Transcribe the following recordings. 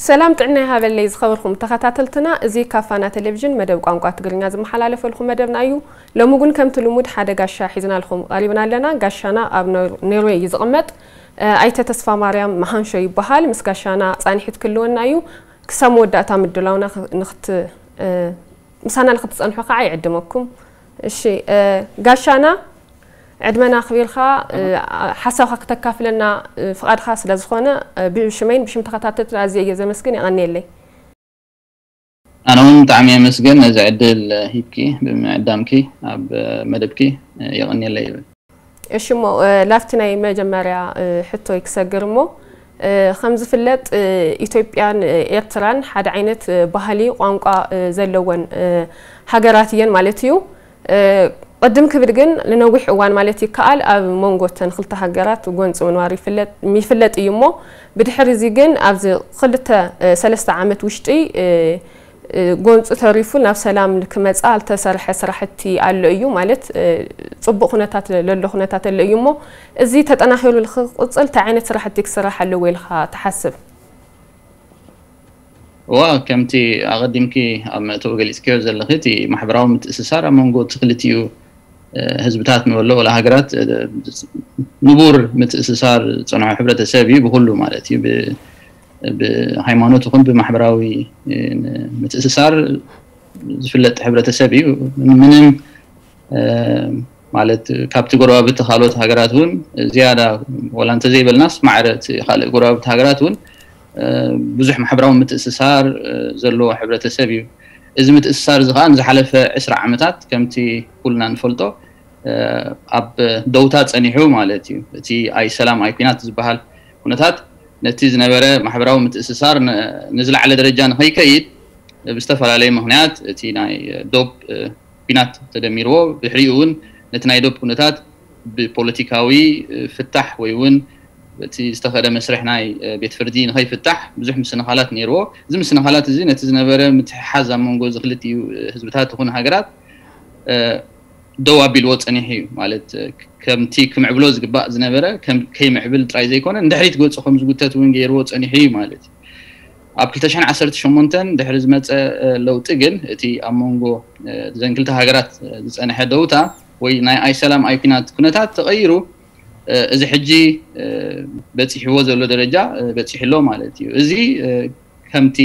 ሰላም ጥዕና ይሃበለይ ዝኸበርኩም ተኸታተልትና፣ እዚ ካብ ፋና ቴሌቪዥን መደብ ቋንቋ ትግርኛ ዝመሓላለፈልኩም መደብና እዩ። ሎሚ እውን ከምቲ ልሙድ ሓደ ጋሻ ሒዝናልኩም ቀሪብና ኣለና። ጋሻና ኣብ ኖር-፣ ኖርዌይ እዩ ዝቕመጥ። እ፣ ኣይተ ተስፋ ማርያም መሃንሾ ይበሃል። ምስ ጋሻና ጻኒሑ ትክልወና እዩ። ክሳብ መወዳእታ ምድላውና ኽ-፣ ንኽት-፣ እ፣ ምሳና ንኽትጸንሑ ከዓ ይዕድመኩም። እሺ፣ እ፣ ጋሻና ዕድመና ኣኽቢርካ፣ እ፣ ሓሳብካ ክተካፍለና፣ እ፣ ፍቓድካ ስለ ዝኾነ፣ እ፣ ብሽመይን ብሽም ተኸታተልቲ ኣዝየ እየ ዘመስግን። የቐንየለይ። ኣነ እውን ብጣዕሚ የመስግን ነዚ ዕድል ሂብኪ ብምዕዳምኪ ኣብ መደብኪ የቐንየለይ ይብል። እሺ እሞ፣ እ፣ ላብቲ ናይ መጀመርያ፣ እ፣ ሕቶይ ክሰግር እሞ፣ እ፣ ከም ዝፍለጥ፣ እ፣ ኢትዮጵያን፣ እ፣ ኤርትራን ሓደ ዓይነት፣ እ፣ ባህሊ፣ ቋንቋ፣ እ፣ ዘለወን፣ እ፣ ሃገራት እየን ማለት እዩ። እ፣ ቅድም ክብል ግን ንነዊሕ እዋን ማለት ይከኣል ኣብ መንጎ እተን ክልተ ሃገራት ጎንፂ ምንባር ይፍለጥ፣ ይፍለጥ እዩ እሞ፣ ብድሕሪ እዚ ግን ኣብዚ ክልተ፣ እ፣ ሰለስተ ዓመት ውሽጢ፣ እ፣ እ፣ ጎንፂ ተሪፉ ናብ ሰላም ክመፃ ዝተሰርሐ ስራሕቲ ኣሎ እዩ ማለት፣ እ፣ ፅቡቕ ኩነታት ለሎ ኩነታት ኣሎ እዩ እሞ፣ እዚ ተጠናኺሩ ንክቕፅል እንታይ ዓይነት ስራሕቲ ክስራሕ ኣለዎ ኢልካ ትሓስብ? እዋ፣ ከምቲ ኣቐዲምኪ ኣብ መእተዊ ገሊጽክዮ ዘለኺ፣ እቲ ማሕበራዊ ምትእስሳር ኣብ መንጎ እቲ ክልቲኡ፣ እ፣ ህዝብታት ንበሎ ወላ ሃገራት፣ እ፣ ንቡር ምትእስሳር ዝጸንሖ ሕብረተሰብ እዩ፣ ብኹሉ ማለት እዩ። ብ-፣ ብሃይማኖት ይኹን ብማሕበራዊ፣ እ፣ ምትእስሳር ዝፍለጥ ሕብረተሰብ እዩ። ምንም፣ እ፣ ማለት ካብቲ ጎረባብቲ ካልኦት ሃገራት እውን ዝያዳ፣ ወላ እንተዘይበልናስ፣ ማዕረ እቲ ካልእ ጎረባብቲ ሃገራት እውን፣ እ፣ ብዙሕ ማሕበራዊ ምትእስሳር፣ እ፣ ዘለዎ ሕብረተሰብ እዩ። እዚ ምትእስሳር እዚ ከኣ ንዝሓለፈ ዕስራ ዓመታት ከምቲ ኩልና ንፈልጦ፣ እ፣ ኣብ ደውታ ጸኒሑ ማለት እዩ። እቲ ኣይ ሰላም ኣይ ኲናት ዝበሃል ኩነታት ነቲ ዝነበረ ማሕበራዊ ምትእስሳር ን-፣ ንዝለዓለ ደረጃ ንኸይከይድ ብዝተፈላለየ ምኽንያት እቲ ናይ ዶብ፣ እ፣ ኲናት ተደሚርዎ፣ ብድሕሪኡ እውን ነቲ ናይ ዶብ ኩነታት ብፖለቲካዊ፣ እ፣ ፍታሕ ወይ እውን እቲ ዝተኸደ መስርሕ ናይ፣ እ፣ ቤት ፍርዲ ንኸይፍታሕ ብዙሕ ምስንኻላት ነይርዎ። እዚ ምስንኻላት እዚ ነቲ ዝነበረ ምትሕሓዝ ኣብ መንጎ እዚ ክልቲኡ፣ እ፣ ህዝብታት ይኹን ሃገራት፣ እ፣ ደው ኣቢልዎ ጸኒሑ እዩ። ማለት፣ እ፣ ከምቲ ክምዕብሎ ዝግባእ ዝነበረ ከም ከይምዕብል ጥራይ ዘይኮነ፣ ንድሕሪት ገጹ ከም ዝጉተት እውን ገይርዎ ጸኒሑ እዩ ማለት እዩ። ኣብ ክልተ ሽሕን ዓሰርተ ሸሞንተን ድሕሪ ዝመጸ፣ እ፣ ለውጢ ግን፣ እቲ ኣብ መንጎ፣ እ፣ እዘን ክልተ ሃገራት፣ እ፣ ዝጸንሐ ደውታ ወይ ናይ ኣይ ሰላም ኣይ ኲናት ኩነታት ተቐይሩ፣ እ፣ እዚ ሕጂ፣ እ፣ በጺሕዎ ዘሎ ደረጃ፣ እ፣ በጺሑ ኣሎ ማለት እዩ። እዚ፣ እ፣ ከምቲ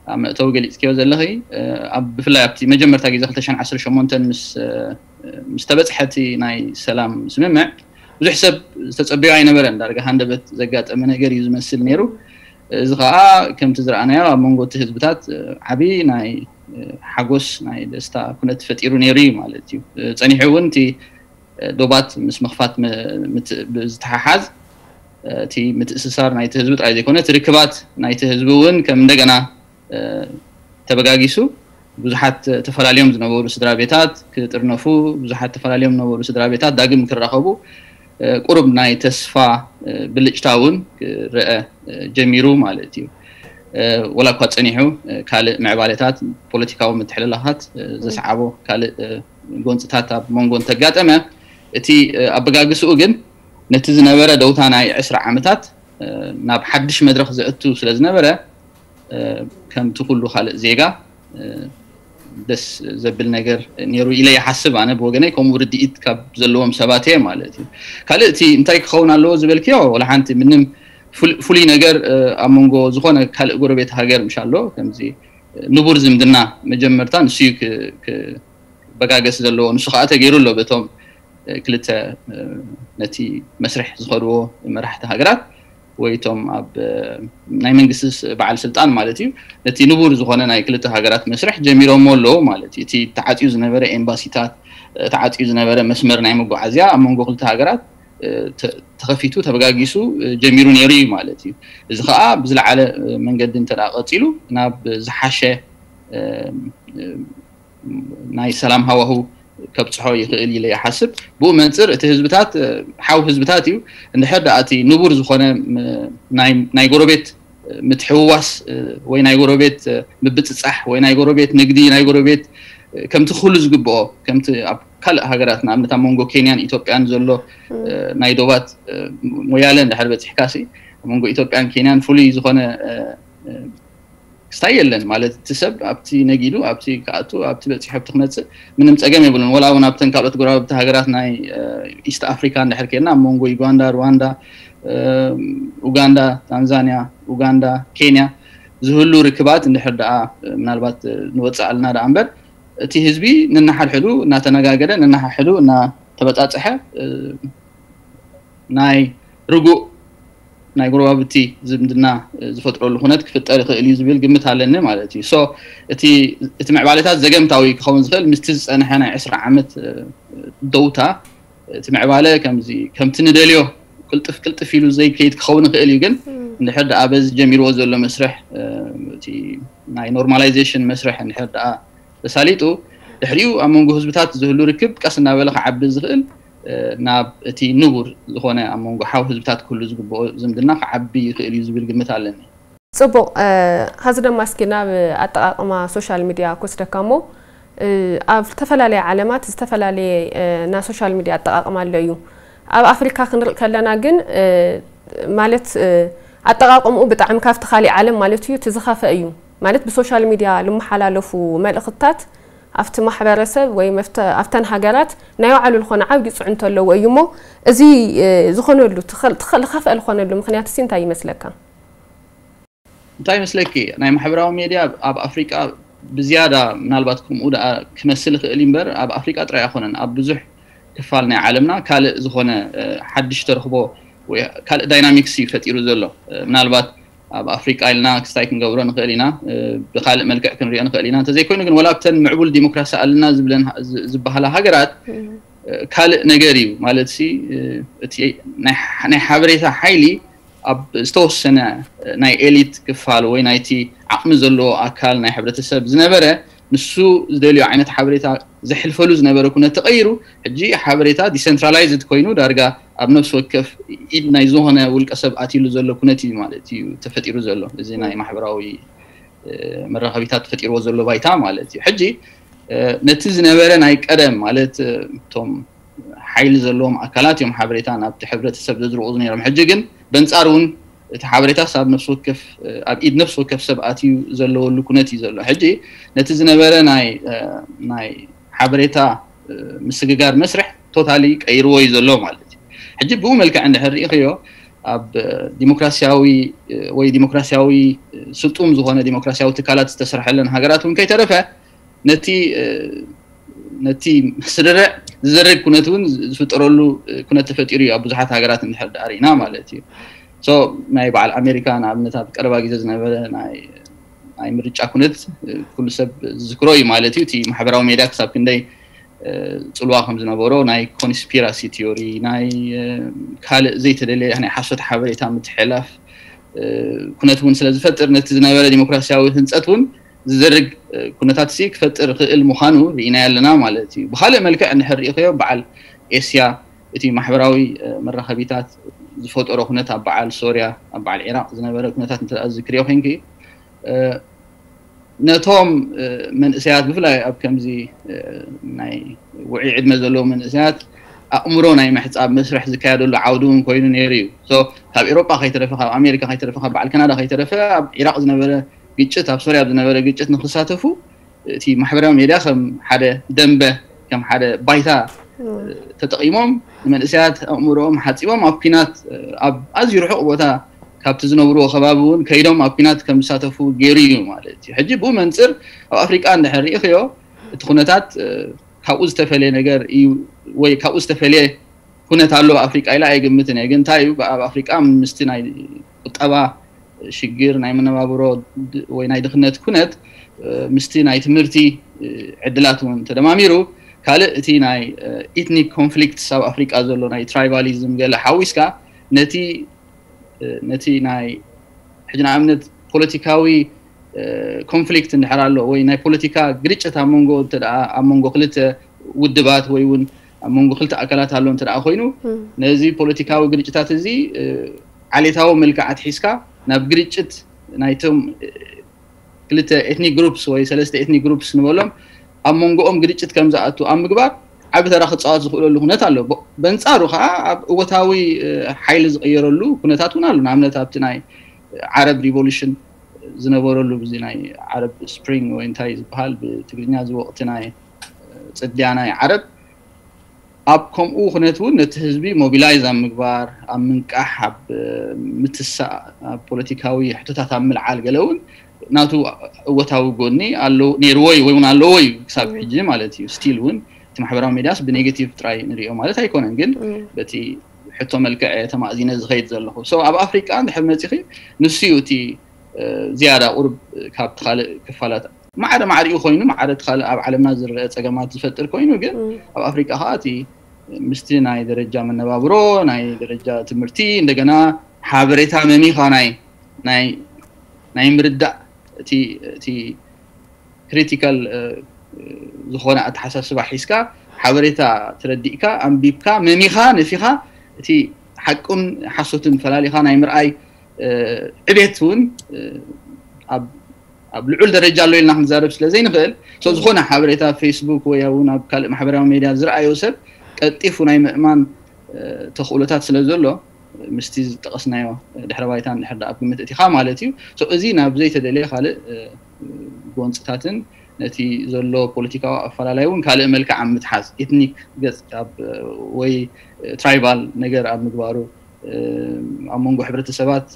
ኣብ መእተዊ ገሊጽክዮ ዘለኺ፣ እ፣ ኣብ፣ ብፍላይ ኣብቲ መጀመርታ ግዜ ክልተ ሽሕን ዓሰርተ ሸሞንተን ምስ፣ እ፣ ምስ ተበጽሐ እቲ ናይ ሰላም ስምምዕ፣ ብዙሕ ሰብ ዝተጸበዮ ኣይነበረን። ዳርጋ ሃንደበት ዘጋጠመ ነገር እዩ ዝመስል ነይሩ። እዚ ኸኣ ከምቲ ዝረኣናዮ ኣብ መንጎ እቲ ህዝብታት፣ እ፣ ዓቢ ናይ፣ እ፣ ሓጎስ፣ ናይ ደስታ ኩነት ፈጢሩ ነይሩ እዩ ማለት እዩ። እ፣ ጸኒሑ እውን እቲ፣ እ፣ ዶባት ምስ ምኽፋት ም-፣ ምት-፣ ብዝተሓሓዝ፣ እ፣ እቲ ምትእስሳር ናይቲ ህዝቢ ጥራይ ዘይኮነ፣ እቲ ርክባት ናይቲ ህዝቢ እውን ከም እንደገና፣ እ፣ ተበጋጊሱ፣ ብዙሓት ተፈላልዮም ዝነበሩ ስድራ ቤታት ክጥርነፉ፣ ብዙሓት ተፈላልዮም ዝነበሩ ስድራ ቤታት ዳግም ክራኸቡ፣ እ፣ ቁሩብ ናይ ተስፋ፣ እ፣ ብልጭታ እውን ክረአ፣ እ፣ ጀሚሩ ማለት እዩ። እ፣ ወላ እኳ ጸኒሑ፣ እ፣ ካልእ ምዕባለታት፣ ፖለቲካዊ ምትሕልላኻት፣ እ፣ ዘስዓቦ ካልእ፣ እ፣ ጎንጽታት ኣብ መንጎ እንተጋጠመ፣ እቲ፣ እ፣ ኣበጋግስኡ ግን ነቲ ዝነበረ ደውታ ናይ ዕስራ ዓመታት፣ እ፣ ናብ ሓድሽ መድረኽ ዘእቱ ስለ ዝነበረ፣ እ፣ ከምቲ ኩሉ ካልእ ዜጋ፣ እ፣ ደስ ዘብል ነገር ነይሩ ኢለ ይሓስብ። ኣነ ብወገነይ ከምኡ ርድኢት ካብ ዘለዎም ሰባት እየ ማለት እዩ። ካልእ እቲ እንታይ ክኸውን ኣለዎ ዝበልክዮ፣ ወላ ሓንቲ ምንም ፍሉ-፣ ፍሉይ ነገር፣ እ፣ ኣብ መንጎ ዝኾነ ካልእ ጎረቤት ሃገር ምሽ ኣሎ፣ ከምዚ ንቡር ዝምድና መጀመርታ ንሱ እዩ ክ-፣ ክበጋገስ ዘለዎ። ንሱ ከዓ ተገይሩ ኣሎ በቶም፣ እ፣ ክልተ፣ እ፣ ነቲ መስርሕ ዝኸድዎ መራሕቲ ሃገራት ወይ እቶም ኣብ፣ እ፣ ናይ መንግስቲ ስ-፣ በዓል ስልጣን ማለት እዩ። ነቲ ንቡር ዝኾነ ናይ ክልተ ሃገራት መስርሕ ጀሚሮሞ ኣለዉ ማለት እዩ። እቲ ተዓጽዩ ዝነበረ ኤምባሲታት፣ እ፣ ተዓጽዩ ዝነበረ መስመር ናይ መጓዓዝያ ኣብ መንጎ ክልተ ሃገራት፣ እ፣ ተ-፣ ተኸፊቱ፣ ተበጋጊሱ፣ እ፣ ጀሚሩ ነይሩ እዩ ማለት እዩ። እዚ ኸኣ ብዝለዓለ፣ እ፣ መንገዲ እንተ ደኣ ቀጺሉ ናብ ዝሓሸ፣ እ፣ እ፣ ናይ ሰላም ሃዋሁ ከብጽሖ ይኽእል ኢለ ይሓስብ። ብኡ መንጽር እቲ ህዝብታት፣ እ፣ ሓው ህዝብታት እዩ። እንድሕር ደኣ እቲ ንቡር ዝኾነ፣ ም-፣ ናይ፣ ናይ ጎረቤት ምትሕውዋስ፣ እ፣ ወይ ናይ ጎረቤት፣ እ፣ ምብጽጻሕ ወይ ናይ ጎረቤት ንግዲ፣ ናይ ጎረቤት፣ ከምቲ ኩሉ ዝግብኦ ከምቲ ኣብ ካልእ ሃገራት ንኣብነት ኣብ መንጎ ኬንያን ኢትዮጵያን ዘሎ ናይ ዶባት ሞያለ እንድሕር በፂሕካሲ ኣብ መንጎ ኢትዮጵያን ኬንያን ፍሉይ ዝኾነ ክስታይ የለን ማለት እቲ ሰብ ኣብቲ ነጊዱ ኣብቲ ክኣቱ ኣብቲ በፂሑ ኣብቲ ክመፅእ ምንም ፀገም የብሉን። ወላ እውን ኣብተን ካልኦት ጎረባብቲ ሃገራት ናይ ኢስት ኣፍሪካ እንድሕር ኬድና ኣብ መንጎ ዩጋንዳ፣ ሩዋንዳ፣ ኡጋንዳ፣ ታንዛንያ፣ ኡጋንዳ፣ ኬንያ ዝህሉ ርክባት እንድሕር ደኣ ምናልባት ንወፅእ ኣለና ደኣ እምበር እቲ ህዝቢ ነናሓድሕዱ እናተነጋገረ ነናሓድሕዱ እናተበፃፀሐ ናይ ርጉእ ናይ ጎረባብቲ ዝምድና ዝፈጥረሉ ኩነት ክፍጠር ይኽእል እዩ ዝብል ግምት ኣለኒ ማለት እዩ። So እቲ እቲ ምዕባለታት ዘገምታዊ ክኸውን ዝኽእል ምስቲ ዝፀንሐ ናይ ዕስራ ዓመት ደውታ እቲ ምዕባለ ከምዚ ከምቲ ንደልዮ ቅልጥፍ ቅልጥፍ ኢሉ ዘይከይድ ክኸውን ይኽእል እዩ። ግን እንድሕር ደኣ በዚ ጀሚርዎ ዘሎ መስርሕ እቲ ናይ ኖርማላይዜሽን መስርሕ እንድሕር ደኣ ተሳሊጡ ድሕሪኡ ኣብ መንጎ ህዝብታት ዝህሉ ርክብ ቀስ እናበለ ክዓቢ ዝኽእል ናብ እቲ ንቡር ዝኾነ ኣብ መንጎ ሓው ህዝብታት ክህሉ ዝግብኦ ዝምድና ክዓቢ ይኽእል እዩ ዝብል ግምት ኣለኒ። ፅቡቕ። ሀዚ ድማ እስኪ ናብ ኣጠቃቅማ ሶሻል ሚድያ ክወስደካ እሞ ኣብ ዝተፈላለየ ዓለማት ዝተፈላለየ ናይ ሶሻል ሚድያ ኣጠቃቅማ ኣሎ እዩ። ኣብ ኣፍሪካ ክንርኢ ከለና ግን ማለት ኣጠቃቅምኡ ብጣዕሚ ካብቲ ካሊእ ዓለም ማለት እዩ እቲ ዝኸፈ እዩ። ማለት ብሶሻል ሚድያ ልመሓላለፉ መልእኽትታት ኣብቲ ማሕበረሰብ ወይ ኣብተን ሃገራት ናይ ባዕሉ ዝኾነ ዓብዪ ፅዕንቶ ኣለዎ እዩ እሞ እዚ ዝኾነሉ ዝኸፍአ ዝኾነሉ ምክንያት ሲ እንታይ ይመስለካ? እንታይ ይመስለኪ ናይ ማሕበራዊ ሜድያ ኣብ ኣፍሪቃ ብዝያዳ ምናልባት ከምኡ ደኣ ክመስል ይኽእል እምበር ኣብ ኣፍሪቃ ጥራይ ኣይኮነን ኣብ ብዙሕ ክፋል ናይ ዓለምና ካልእ ዝኾነ ሓድሽ ተረኽቦ ወይ ካልእ ዳይናሚክስ እዩ ፈጢሩ ዘሎ። ምናልባት ኣብ ኣፍሪቃ ኢልና ክስታይ ክንገብሮ ንኽእል ኢና፣ ብካልእ መልክዕ ክንሪኦ ንኽእል ኢና። እንተዘይኮይኑ ግን ወላ ኣብተን ምዕቡል ዲሞክራሲ ኣለና ዝብለን ዝበሃላ ሃገራት ካልእ ነገር እዩ ማለት ሲ እቲ ናይ ሓበሬታ ሓይሊ ኣብ ዝተወሰነ ናይ ኤሊት ክፋል ወይ ናይቲ ዓቕሚ ዘለዎ ኣካል ናይ ሕብረተሰብ ዝነበረ ንሱ ዝደልዮ ዓይነት ሓበሬታ ዘሕልፈሉ ዝነበረ ኩነት ተቐይሩ ሕጂ ሓበሬታ ዲሰንትራላይዝድ ኮይኑ ዳርጋ ኣብ ነፍሲ ወከፍ ኢድ ናይ ዝኾነ ውልቀ ሰብ ኣትይሉ ዘሎ ኩነት እዩ ማለት እዩ ተፈጢሩ ዘሎ እዚ ናይ ማሕበራዊ መራኸቢታት ተፈጢርዎ ዘሎ ባይታ ማለት እዩ። ሕጂ ነቲ ዝነበረ ናይ ቀደም ማለት እቶም ሓይሊ ዘለዎም ኣካላት እዮም ሓበሬታ ናብቲ ሕብረተሰብ ዘዝርቑ ነይሮም። ሕጂ ግን በንጻር እውን እቲ ሓበሬታስ ኣብ ነፍሲ ወከፍ ኣብ ኢድ ነፍሲ ወከፍ ሰብ ኣትዩ ዘለወሉ ኩነት እዩ ዘሎ። ሕጂ ነቲ ዝነበረ ናይ ናይ ሓበሬታ ምስግጋር መስርሕ ቶታሊ ቀይርዎ እዩ ዘሎ ማለት እዩ። ሕጂ ብኡ መልክዕ እንድሕር ርኢኽዮ ኣብ ዲሞክራሲያዊ ወይ ዲሞክራሲያዊ ስጡም ዝኾነ ዲሞክራሲያዊ ትካላት ዝተሰርሐለን ሃገራት እውን ከይተረፈ ነቲ ነቲ ስርርዕ ዝዘርግ ኩነት እውን ዝፍጠረሉ ኩነት ተፈጢሩ እዩ ኣብ ብዙሓት ሃገራት እንድሕር ዳኣ ርኢና ማለት እዩ። So ናይ በዓል ኣሜሪካ ንኣብነት ኣብ ቀረባ ግዜ ዝነበረ ናይ ናይ ምርጫ ኩነት ኩሉ ሰብ ዝዝክሮ እዩ ማለት እዩ። እቲ ማሕበራዊ ሜድያ ክሳብ ክንደይ ፅልዋ ከም ዝነበሮ ናይ ኮንስፒራሲ ቲዮሪ ናይ ካልእ ዘይተደለየ ናይ ሓሶት ሓበሬታ ምትሕልላፍ ኩነት እውን ስለ ዝፈጥር ነቲ ዝነበረ ዲሞክራሲያዊ ህንፀት እውን ዝዘርግ ኩነታት ሲ ክፈጥር ክእል ምዃኑ ርኢናዮ ኣለና ማለት እዩ። ብካልእ መልክዕ እንድሕር ርኢኽዮ በዓል ኤስያ እቲ ማሕበራዊ መራኸቢታት ዝፈጠሮ ኩነት ኣብ በዓል ሶርያ ኣብ በዓል ዒራቅ ዝነበረ ኩነታት እንተ ዝክርዮ ኮንኪ ነቶም መንእሰያት ብፍላይ ኣብ ከምዚ ናይ ውዑይ ዕድመ ዘለዉ መንእሰያት ኣእምሮ ናይ ምሕፃብ መስርሕ ዝካየደሉ ዓውዲ እውን ኮይኑ ነይሩ እዩ። ካብ ኤሮጳ ከይተረፈ ካብ ኣሜሪካ ከይተረፈ ካብ በዓል ካናዳ ከይተረፈ ኣብ ዒራቅ ዝነበረ ግጭት ኣብ ሶርያ ዝነበረ ግጭት ንክሳተፉ እቲ ማሕበራዊ ሜድያ ከም ሓደ ደንበ ከም ሓደ ባይታ ተጠቂሞም ንመንእሰያት ኣእምሮኦም ሓፂቦም ኣብ ኩናት ኣብ ኣዝዩ ርሑቕ ቦታ ካብቲ ዝነብርዎ ከባቢ እውን ከይዶም ኣብ ኩናት ከም ዝሳተፉ ገይሩ እዩ ማለት እዩ። ሕጂ ብኡ መንፅር ኣብ ኣፍሪቃ እንድሕር ርኢኽዮ እቲ ኩነታት ካብኡ ዝተፈለየ ነገር እዩ ወይ ካብኡ ዝተፈለየ ኩነት ኣሎ ኣብ ኣፍሪቃ ኢለ ኣይግምትን እየ። ግን እንታይ እዩ ኣብ ኣፍሪቃ ምስቲ ናይ ቁጠባ ሽግር ናይ መነባብሮ ወይ ናይ ድኽነት ኩነት ምስቲ ናይ ትምህርቲ ዕድላት እውን ተደማሚሩ ካልእ እቲ ናይ ኢትኒክ ኮንፍሊክትስ ኣብ ኣፍሪቃ ዘሎ ናይ ትራይባሊዝም ገለ ሓዊስካ ነቲ ነቲ ናይ ሕጂ ንኣብነት ፖለቲካዊ ኮንፍሊክት እንድሕር ኣሎ ወይ ናይ ፖለቲካ ግርጭት ኣብ መንጎ እንተ ኣብ መንጎ ክልተ ውድባት ወይ እውን ኣብ መንጎ ክልተ ኣካላት ኣሎ እንተ ኮይኑ ነዚ ፖለቲካዊ ግርጭታት እዚ ዓሌታዊ መልክዓት ሒዝካ ናብ ግርጭት ናይቶም ክልተ ኤትኒክ ግሩፕስ ወይ ሰለስተ ኤትኒክ ግሩፕስ ንበሎም ኣብ መንጎኦም ግርጭት ከም ዝኣቱ ኣብ ምግባር ዓቢ ተራ ክጻወት ዝኽእለሉ ኩነት ኣሎ። በንጻሩ ከዓ ኣብ እወታዊ ሓይሊ ዝቕየረሉ ኩነታት እውን ኣሎ። ንኣብነት ኣብቲ ናይ ዓረብ ሪቮሉሽን ዝነበረሉ ብዚ ናይ ዓረብ ስፕሪንግ ወይ እንታይ ዝበሃል ብትግርኛ እዚ ወቕቲ ናይ ጽድያ ናይ ዓረብ ኣብ ከምኡ ኩነት እውን ነቲ ህዝቢ ሞቢላይዝ ኣብ ምግባር ኣብ ምንቃሕ ኣብ ምትሳእ ኣብ ፖለቲካዊ ሕቶታት ኣብ ምልዓል ገለ እውን ናቱ እወታዊ ጎኒ ኣለዎ ነይርዎ እዩ ወይ እውን ኣለዎ እዩ ክሳብ ሕጂ ማለት እዩ። ስቲል እውን እቲ ማሕበራዊ ሚድያስ ብኔጌቲቭ ጥራይ ንሪኦ ማለት ኣይኮነን፣ ግን በቲ ሕቶ መልክዕ ተማእዚነ ዝኸይድ ዘለኹ። ሶ ኣብ ኣፍሪቃ እንድሕር መፂኺ ንሱ እዩ እቲ ዝያዳ ቁርብ ካብቲ ካልእ ክፋላት ማዕረ ማዕሪኡ ኮይኑ ማዕረ እቲ ካልእ ኣብ ዓለምና ዝረአ ፀገማት ዝፈጥር ኮይኑ ግን ኣብ ኣፍሪቃ ከዓ እቲ ምስቲ ናይ ደረጃ መነባብሮ ናይ ደረጃ ትምህርቲ እንደገና ሓበሬታ መሚኻ ናይ ናይ ናይ ምርዳእ እቲ እቲ ክሪቲካል ዝኾነ ኣተሓሳስባ ሒዝካ ሓበሬታ ተረዲእካ ኣንቢብካ መሚኻ ነፊኻ እቲ ሓቁን ሓሶትን ፈላሊኻ ናይ ምርኣይ ዕቤት እውን ኣብ ኣብ ልዑል ደረጃ ኣሎ ኢልና ክንዛረብ ስለ ዘይንኽእል ሶ ዝኾነ ሓበሬታ ፌስቡክ ወይ እውን ኣብ ካልእ ማሕበራዊ ሜድያ ዝረኣዮ ሰብ ቀልጢፉ ናይ ምእማን ተኽእሎታት ስለ ዘሎ ምስቲ ዝጠቐስናዮ ድሕረ ባይታ እንድሕር ኣብ ግምት እቲኻ ማለት እዩ። እዚ ናብ ዘይተደልየ ካልእ ጎንፅታትን ነቲ ዘሎ ፖለቲካዊ ኣፈላላይ እውን ካልእ መልክዕ ኣብ ምትሓዝ ኤትኒክ ገፅ ወይ ትራይባል ነገር ኣብ ምግባሩ ኣብ መንጎ ሕብረተሰባት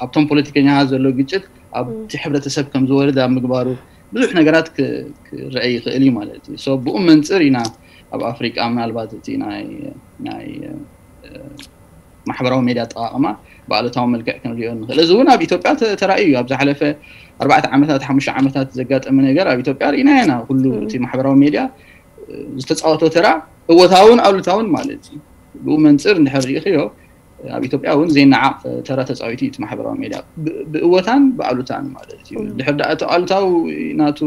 ኣብቶም ፖለቲከኛታት ዘሎ ግጭት ኣብቲ ሕብረተሰብ ከም ዝወርድ ኣብ ምግባሩ ብዙሕ ነገራት ክረአ ይኽእል እዩ ማለት እዩ። ብኡ መንፅር ኢና ኣብ ኣፍሪቃ ምናልባት እቲ ናይ ማሕበራዊ ሜድያ ኣጠቃቅማ ብኣሉታዊ መልክዕ ክንሪኦ ንኽእል። እዚ እውን ኣብ ኢትዮጵያ ተራእዩ እዩ። ኣብ ዝሓለፈ ኣርባዕተ ዓመታት ሓሙሽተ ዓመታት ዘጋጠመ ነገር ኣብ ኢትዮጵያ ርኢና ኢና። ኩሉ እቲ ማሕበራዊ ሜድያ ዝተፃወቶ ተራ እወታውን ኣሉታውን ማለት እዩ። ብኡ መንፅር እንድሕር ርኢኽዮ ኣብ ኢትዮጵያ እውን ዘይነዓቕ ተራ ተፃዊቱ እዩ እቲ ማሕበራዊ ሜድያ። ብእወታን ብኣሉታን ማለት እዩ። ድሕር ደኣ እቲ ኣሉታዊ ናቱ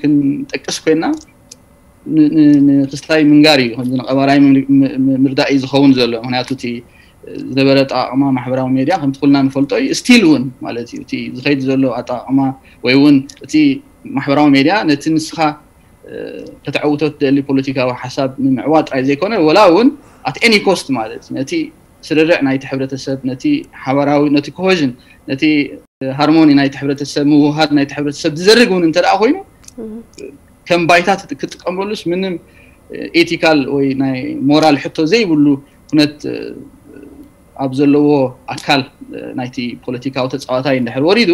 ክንጠቅስ ኮይና ንክስታይ ምንጋር እዩ። ከምዚ ንቐባራይ ምርዳእ እዩ ዝኸውን ዘሎ። ምክንያቱ እቲ ዝነበረ ኣጠቃቅማ ማሕበራዊ ሜድያ ከምቲ ኩልና ንፈልጦ እዩ። ስቲል እውን ማለት እዩ እቲ ዝኸይድ ዘሎ ኣጠቃቅማ ወይ እውን እቲ ማሕበራዊ ሜድያ ነቲ ንስኻ ከተዕውቶ ትደሊ ፖለቲካዊ ሓሳብ ንምዕዋት ጥራይ ዘይኮነ ወላ እውን ኣት ኤኒ ኮስት ማለት ነቲ ስርርዕ ናይቲ ሕብረተሰብ ነቲ ሓበራዊ ነቲ ኮሄዥን ነቲ ሃርሞኒ ናይቲ ሕብረተሰብ ምውሃድ ናይቲ ሕብረተሰብ ዝዘርግ እውን እንተ ኮይኑ ከም ባይታ ክትጥቀመሉስ ምንም ኤቲካል ወይ ናይ ሞራል ሕቶ ዘይብሉ ኩነት ኣብ ዘለዎ ኣካል ናይቲ ፖለቲካዊ ተፃዋታይ እንድሕር ወሪዱ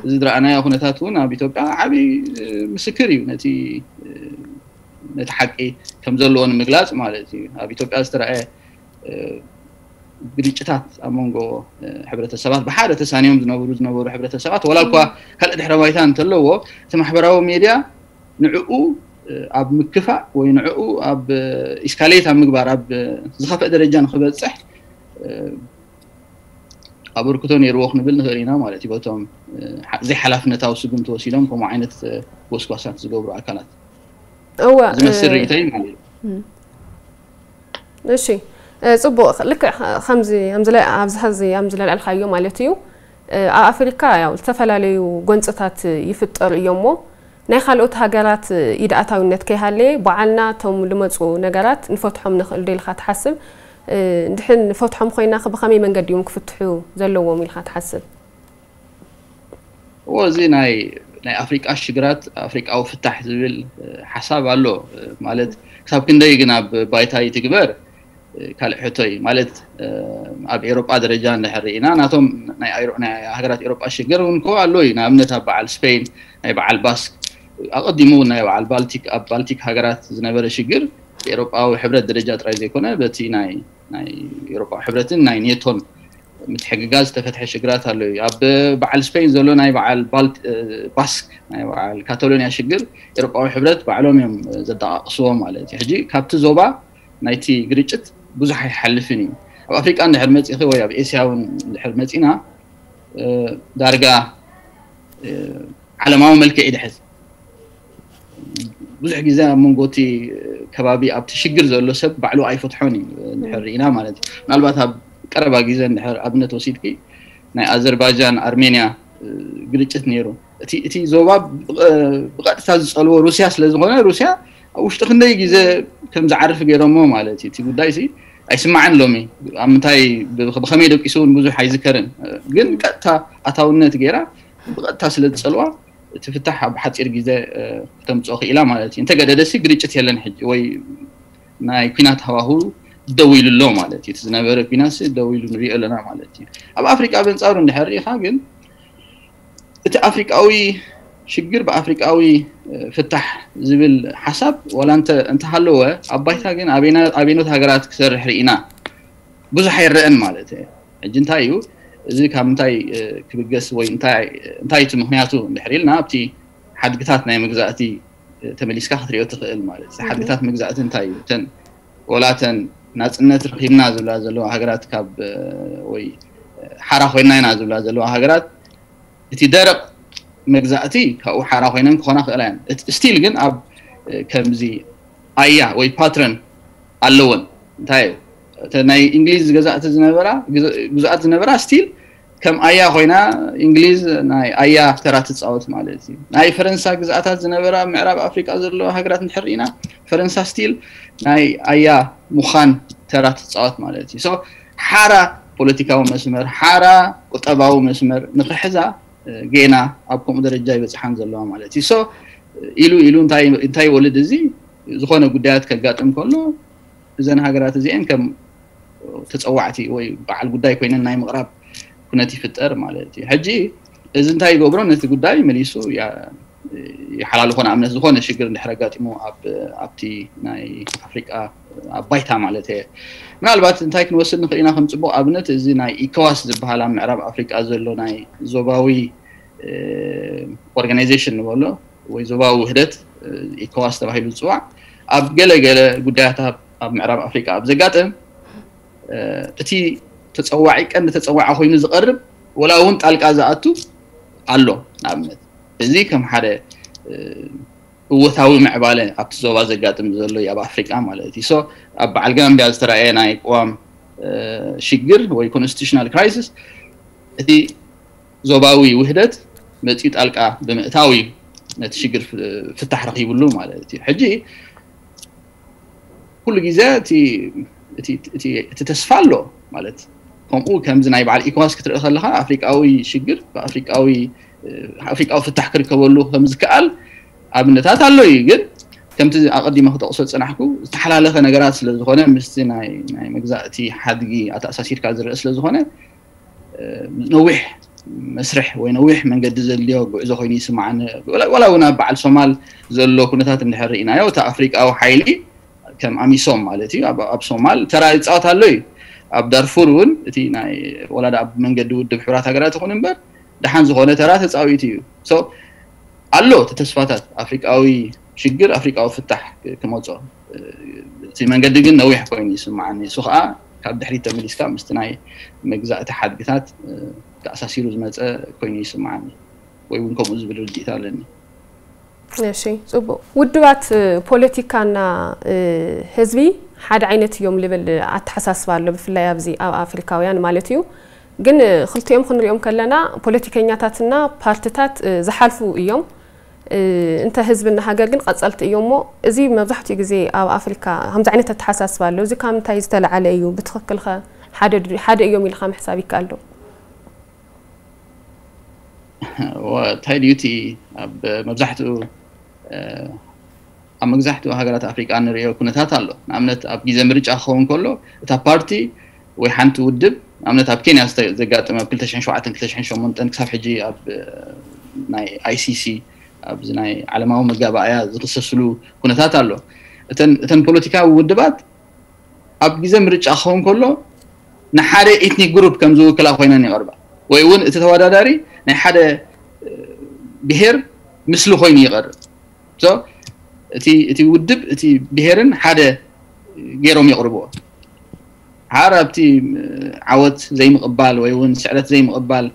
እዚ ዝረኣናዮ ኩነታት እውን ኣብ ኢትዮጵያ ዓብዪ ምስክር እዩ። ነቲ ነቲ ሓቂ ከም ዘለዎ ንምግላፅ ማለት እዩ። ኣብ ኢትዮጵያ ዝተረኣየ ግርጭታት ኣብ መንጎ ሕብረተሰባት ብሓደ ተሳንዮም ዝነብሩ ዝነበሩ ሕብረተሰባት ዋላ እኳ ካልእ ድሕረ ባይታ እንተለዎ እቲ ማሕበራዊ ሜድያ ንዕኡ ኣብ ምክፋእ ወይ ንዕኡ ኣብ ኢስካሌት ኣብ ምግባር ኣብ ዝኸፍአ ደረጃ ንክበፅሕ ኣበርክቶ ነይርዎ ክንብል ንኽእል ኢና ማለት እዩ። በቶም ዘይሓላፍነታዊ ስጉምቲ ወሲዶም ከምኡ ዓይነት ጎስጓሳት ዝገብሩ ኣካላት እወ ዝመስል ርእይቶይ ማለት እዩ። እሺ ጽቡቕ ልክዕ ከምዚ ኣብዚ ኣብዚ ሕዚ ኣብዚ ለልዕልካዮ ማለት እዩ። ኣብ ኣፍሪካ ያው ዝተፈላለዩ ጎንፅታት ይፍጠሩ እዮም እሞ ናይ ካልኦት ሃገራት ኢድ ኣታዊነት ከይሃለየ ባዓልና እቶም ልመፁ ነገራት ንፈትሖም ንኽእል ዶ ኢልካ ትሓስብ? እንድሕን ንፈትሖም ኮይና ብኸመይ መንገዲ እዮም ክፍትሑ ዘለዎም ኢልካ ትሓስብ? እዎ እዚ ናይ ናይ ኣፍሪቃ ሽግራት ኣፍሪቃዊ ፍታሕ ዝብል ሓሳብ ኣሎ ማለት ክሳብ ክንደይ ግን ኣብ ባይታ ይትግበር ካልእ ሕቶ እዩ ማለት ኣብ ኤሮጳ ደረጃ እንድሕር ርኢና ናቶም ናይ ሃገራት ኤሮጳ ሽግር እውን ከ ኣሎ እዩ ንኣብነት ኣብ በዓል ስፔን ናይ በዓል ባስክ ኣቐዲሙ እውን ናይ በዓል ባልቲክ ኣብ ባልቲክ ሃገራት ዝነበረ ሽግር ኤሮጳዊ ሕብረት ደረጃ ጥራይ ዘይኮነ በቲ ናይ ናይ ኤሮጳዊ ሕብረትን ናይ ኔቶን ምትሕግጋዝ ዝተፈትሐ ሽግራት ኣሎ እዩ ኣብ በዓል ስፔን ዘሎ ናይ በዓል ባስክ ናይ በዓል ካታሎኒያ ሽግር ኤሮጳዊ ሕብረት ባዕሎም እዮም ዘጠቃቅስዎ ማለት እዩ ሕጂ ካብቲ ዞባ ናይቲ ግርጭት ብዙሕ ኣይሓልፍን እዩ ኣብ ኣፍሪቃ እንድሕር መፂኺ ወይ ኣብ ኤስያ እውን እንድሕር መፂና ዳርጋ ዓለማዊ መልክዕ ይድሕዝ ብዙሕ ግዜ ኣብ መንጎ እቲ ከባቢ ኣብቲ ሽግር ዘሎ ሰብ ባዕሉ ኣይፈትሖን እዩ እንድሕር ርኢና ማለት እዩ ምናልባት ኣብ ቀረባ ግዜ እንድሕር ኣብነት ወሲድኪ ናይ ኣዘርባጃን ኣርሜንያ ግርጭት ነይሩ እቲ ዞባ ብቐጥታ ዝፀልዎ ሩስያ ስለዝኾነ፣ ሩስያ ኣብ ውሽጢ ክንደይ ግዜ ከም ዝዓርፍ ገይሮሞ ማለት እዩ። እቲ ጉዳይ ሲ ኣይስማዕን። ሎሚ ኣብ ምንታይ ብኸመይ ደቂሱ እውን ብዙሕ ኣይዝከርን፣ ግን ቀጥታ ኣታውነት ገይራ ብቐጥታ ስለ ዝፀልዋ እቲ ፍታሕ ኣብ ሓፂር ግዜ ክተምፅኦ ክኢላ ማለት እዩ። እንተገደደሲ ግርጭት የለን ሕጂ ወይ ናይ ኩናት ሃዋሁ ደው ኢሉ ኣሎ ማለት እዩ። እቲ ዝነበረ ኩናት ደው ኢሉ ንሪኦ ኣለና ማለት እዩ። ኣብ ኣፍሪቃ በንፃሩ እንድሕር ርኢኻ ግን እቲ ኣፍሪቃዊ ሽግር ብኣፍሪቃዊ ፍታሕ ዝብል ሓሳብ ዋላ እንተሃለወ ኣብ ባይታ ግን ኣቤኖት ሃገራት ክሰርሕ ርኢና ብዙሕ ኣይረአን ማለት እዩ። ሕጂ እንታይ እዩ እዚ ካብ ምንታይ ክብገስ ወይ እንታይ እቲ ምክንያቱ እንድሕር ኢልና ኣብቲ ሓድግታት ናይ መግዛእቲ ተመሊስካ ክትሪኦ ትኽእል ማለት እዩ። ሓድግታት መግዛእቲ እንታይ እዩ? እተን ወላ እተን ናፅነት ረኺብና ዝብላ ዘለዋ ሃገራት ካብ ወይ ሓራ ኮይና ኢና ዝብላ ዘለዋ ሃገራት እቲ ደረቕ መግዛእቲ ካብኡ ሓራ ኮይነን ክኾና ክእላ እየን። ስቲል ግን ኣብ ከምዚ ኣያ ወይ ፓትረን ኣለወን። እንታይ እዩ ናይ እንግሊዝ ገዛእቲ ዝነበራ ግዛኣት ዝነበራ ስቲል ከም ኣያ ኮይና እንግሊዝ ናይ ኣያ ተራ ትፃወት ማለት እዩ። ናይ ፈረንሳ ግዛኣታት ዝነበራ ምዕራብ ኣፍሪቃ ዘለዋ ሃገራት እንድሕር ኢና ፈረንሳ ስቲል ናይ ኣያ ምዃን ተራ ትፃወት ማለት እዩ። ሓራ ፖለቲካዊ መስመር፣ ሓራ ቁጠባዊ መስመር ንክሕዛ ጌና ኣብ ከምኡ ደረጃ ይበፅሓን ዘለዋ ማለት እዩ። ኢሉ ኢሉ እንታይ ይወልድ? እዚ ዝኾነ ጉዳያት ከጋጥም ከሎ እዘን ሃገራት እዚአን ከም ተፀዋዕቲ ወይ በዓል ጉዳይ ኮይነን ናይ ምቕራብ ኩነት ይፍጠር ማለት እዩ። ሕጂ እዚ እንታይ ይገብሮ? ነቲ ጉዳይ መሊሱ ይሓላልኾ። ንኣብነት ዝኾነ ሽግር እንድሕር ኣጋጢሙ ኣብቲ ናይ ኣፍሪቃ ኣብ ባይታ ማለት እየ ምናልባት እንታይ ክንወስድ ንኽእል ኢና ከም ፅቡቕ ኣብነት እዚ ናይ ኢኮዋስ ዝበሃል ኣብ ምዕራብ ኣፍሪቃ ዘሎ ናይ ዞባዊ ኦርጋናይዜሽን ንበሎ ወይ ዞባዊ ውህደት ኢኮዋስ ተባሂሉ ዝፅዋዕ ኣብ ገለ ገለ ጉዳያት ኣብ ምዕራብ ኣፍሪቃ ኣብ ዘጋጥም እቲ ተፀዋዒ ቀንዲ ተፀዋዒ ኮይኑ ዝቐርብ ወላ እውን ጣልቃ ዝኣቱ ኣሎ። ንኣብነት እዚ ከም ሓደ እወታዊ ምዕባለ ኣብቲ ዞባ ዘጋጥም ዘሎ እዩ ኣብ ኣፍሪቃ ማለት እዩ። ኣብ በዓል ጋምቢያ ዝተረኣየ ናይ ቅዋም ሽግር ወይ ኮንስቲቱሽናል ክራይሲስ እቲ ዞባዊ ውህደት መፅኡ ጣልቃ ብምእታው እዩ ነቲ ሽግር ፍታሕ ረኪብሉ ማለት እዩ። ሕጂ ኩሉ ግዜ እቲ ተስፋ ኣሎ ማለት ከምኡ ከምዚ ናይ በዓል ኢኮዋስ ክትርኢ ከለካ ኣፍሪቃዊ ሽግር ብኣፍሪቃዊ ኣፍሪቃዊ ፍታሕ ክርከበሉ ከምዝከኣል ኣብነታት ኣሎ እዩ። ግን ከምቲ ኣቐዲመ ክጠቕሶ ዝፀናሕኩ ዝተሓላለኸ ነገራት ስለዝኾነ ምስቲ ናይ መግዛእቲ ሓድጊ ኣተኣሳሲርካ ዝረአ ስለዝኾነ ነዊሕ መስርሕ ወይ ነዊሕ መንገዲ ዘድልዮ ጉዕዞ ኮይኑ ይስማዓኒ። ዋላ እውን ኣብ በዓል ሶማል ዘሎ ኩነታት እንድሕር ርኢናዮ እቲ ኣፍሪቃዊ ሓይሊ ከም ኣሚሶም ማለት እዩ ኣብ ሶማል ተራ ይፃወት ኣሎ እዩ። ኣብ ዳርፉር እውን እቲ ናይ ወላ ኣብ መንገዲ ውድብ ሕቡራት ሃገራት ይኹን እምበር ደሓን ዝኾነ ተራ ተፃዊቱ እዩ። ኣሎ እቲ ተስፋታት ኣፍሪቃዊ ሽግር ኣፍሪቃዊ ፍታሕ ክመፆ እቲ መንገዲ ግን ነዊሕ ኮይኑ ይስማዓኒ። እሱ ከዓ ካብ ድሕሪት ተመሊስካ ምስቲ ናይ መግዛእቲ ሓድግታት ተኣሳሲሩ ዝመፀ ኮይኑ ይስማዓኒ ወይ እውን ከምኡ ዝብል ርድኢት ኣለኒ። እሺ፣ ፅቡቅ። ውድባት ፖለቲካና ህዝቢ ሓደ ዓይነት እዮም ልብል ኣተሓሳስባ ኣሎ፣ ብፍላይ ኣብዚ ኣብ ኣፍሪካውያን ማለት እዩ። ግን ክልቲኦም ክንሪኦም ከለና ፖለቲከኛታትና ፓርትታት ዝሓልፉ እዮም፣ እንተ ህዝብና ሃገር ግን ቀፀልቲ እዮም። እሞ እዚ መብዛሕትኡ ግዜ ኣብ ኣፍሪካ ከምዚ ዓይነት ኣተሓሳስባ ኣሎ። እዚ ካብ ምንታይ ዝተለዓለ እዩ? ብትኽክልከ ሓደ እዮም ኢልካ ምሕሳብ ይከኣል ዶ? እንታይ ድዩ እቲ ኣብ መብዛሕትኡ ኣብ መብዛሕትኡ ሃገራት ኣፍሪቃ ንሪኦ ኩነታት ኣሎ። ንኣብነት ኣብ ግዜ ምርጫ ክኸውን ከሎ እታ ፓርቲ ወይ ሓንቲ ውድብ ንኣብነት ኣብ ኬንያ ዘጋጠመ ኣብ ክልተ ሽሕን ሸውዓተን ክልተ ሽሕን ሸሞንተን ክሳብ ሕጂ ኣብ ናይ ኣይሲሲ ኣብዚ ናይ ዓለማዊ መጋባእያ ዝኽሰስሉ ኩነታት ኣሎ። እተን ፖለቲካዊ ውድባት ኣብ ግዜ ምርጫ ክኸውን ከሎ ንሓደ ኤትኒክ ግሩፕ ከም ዝውክላ ኮይነን ይቐርባ ወይ እውን እቲ ተወዳዳሪ ናይ ሓደ ብሄር ምስሊ ኮይኑ ይቐርብ። እቲ ውድብ እቲ ብሄርን ሓደ ገይሮም የቕርብዎ። ሓር ኣብቲ ዓወት ዘይምቕባል ወይ እውን ስዕረት ዘይምቕባል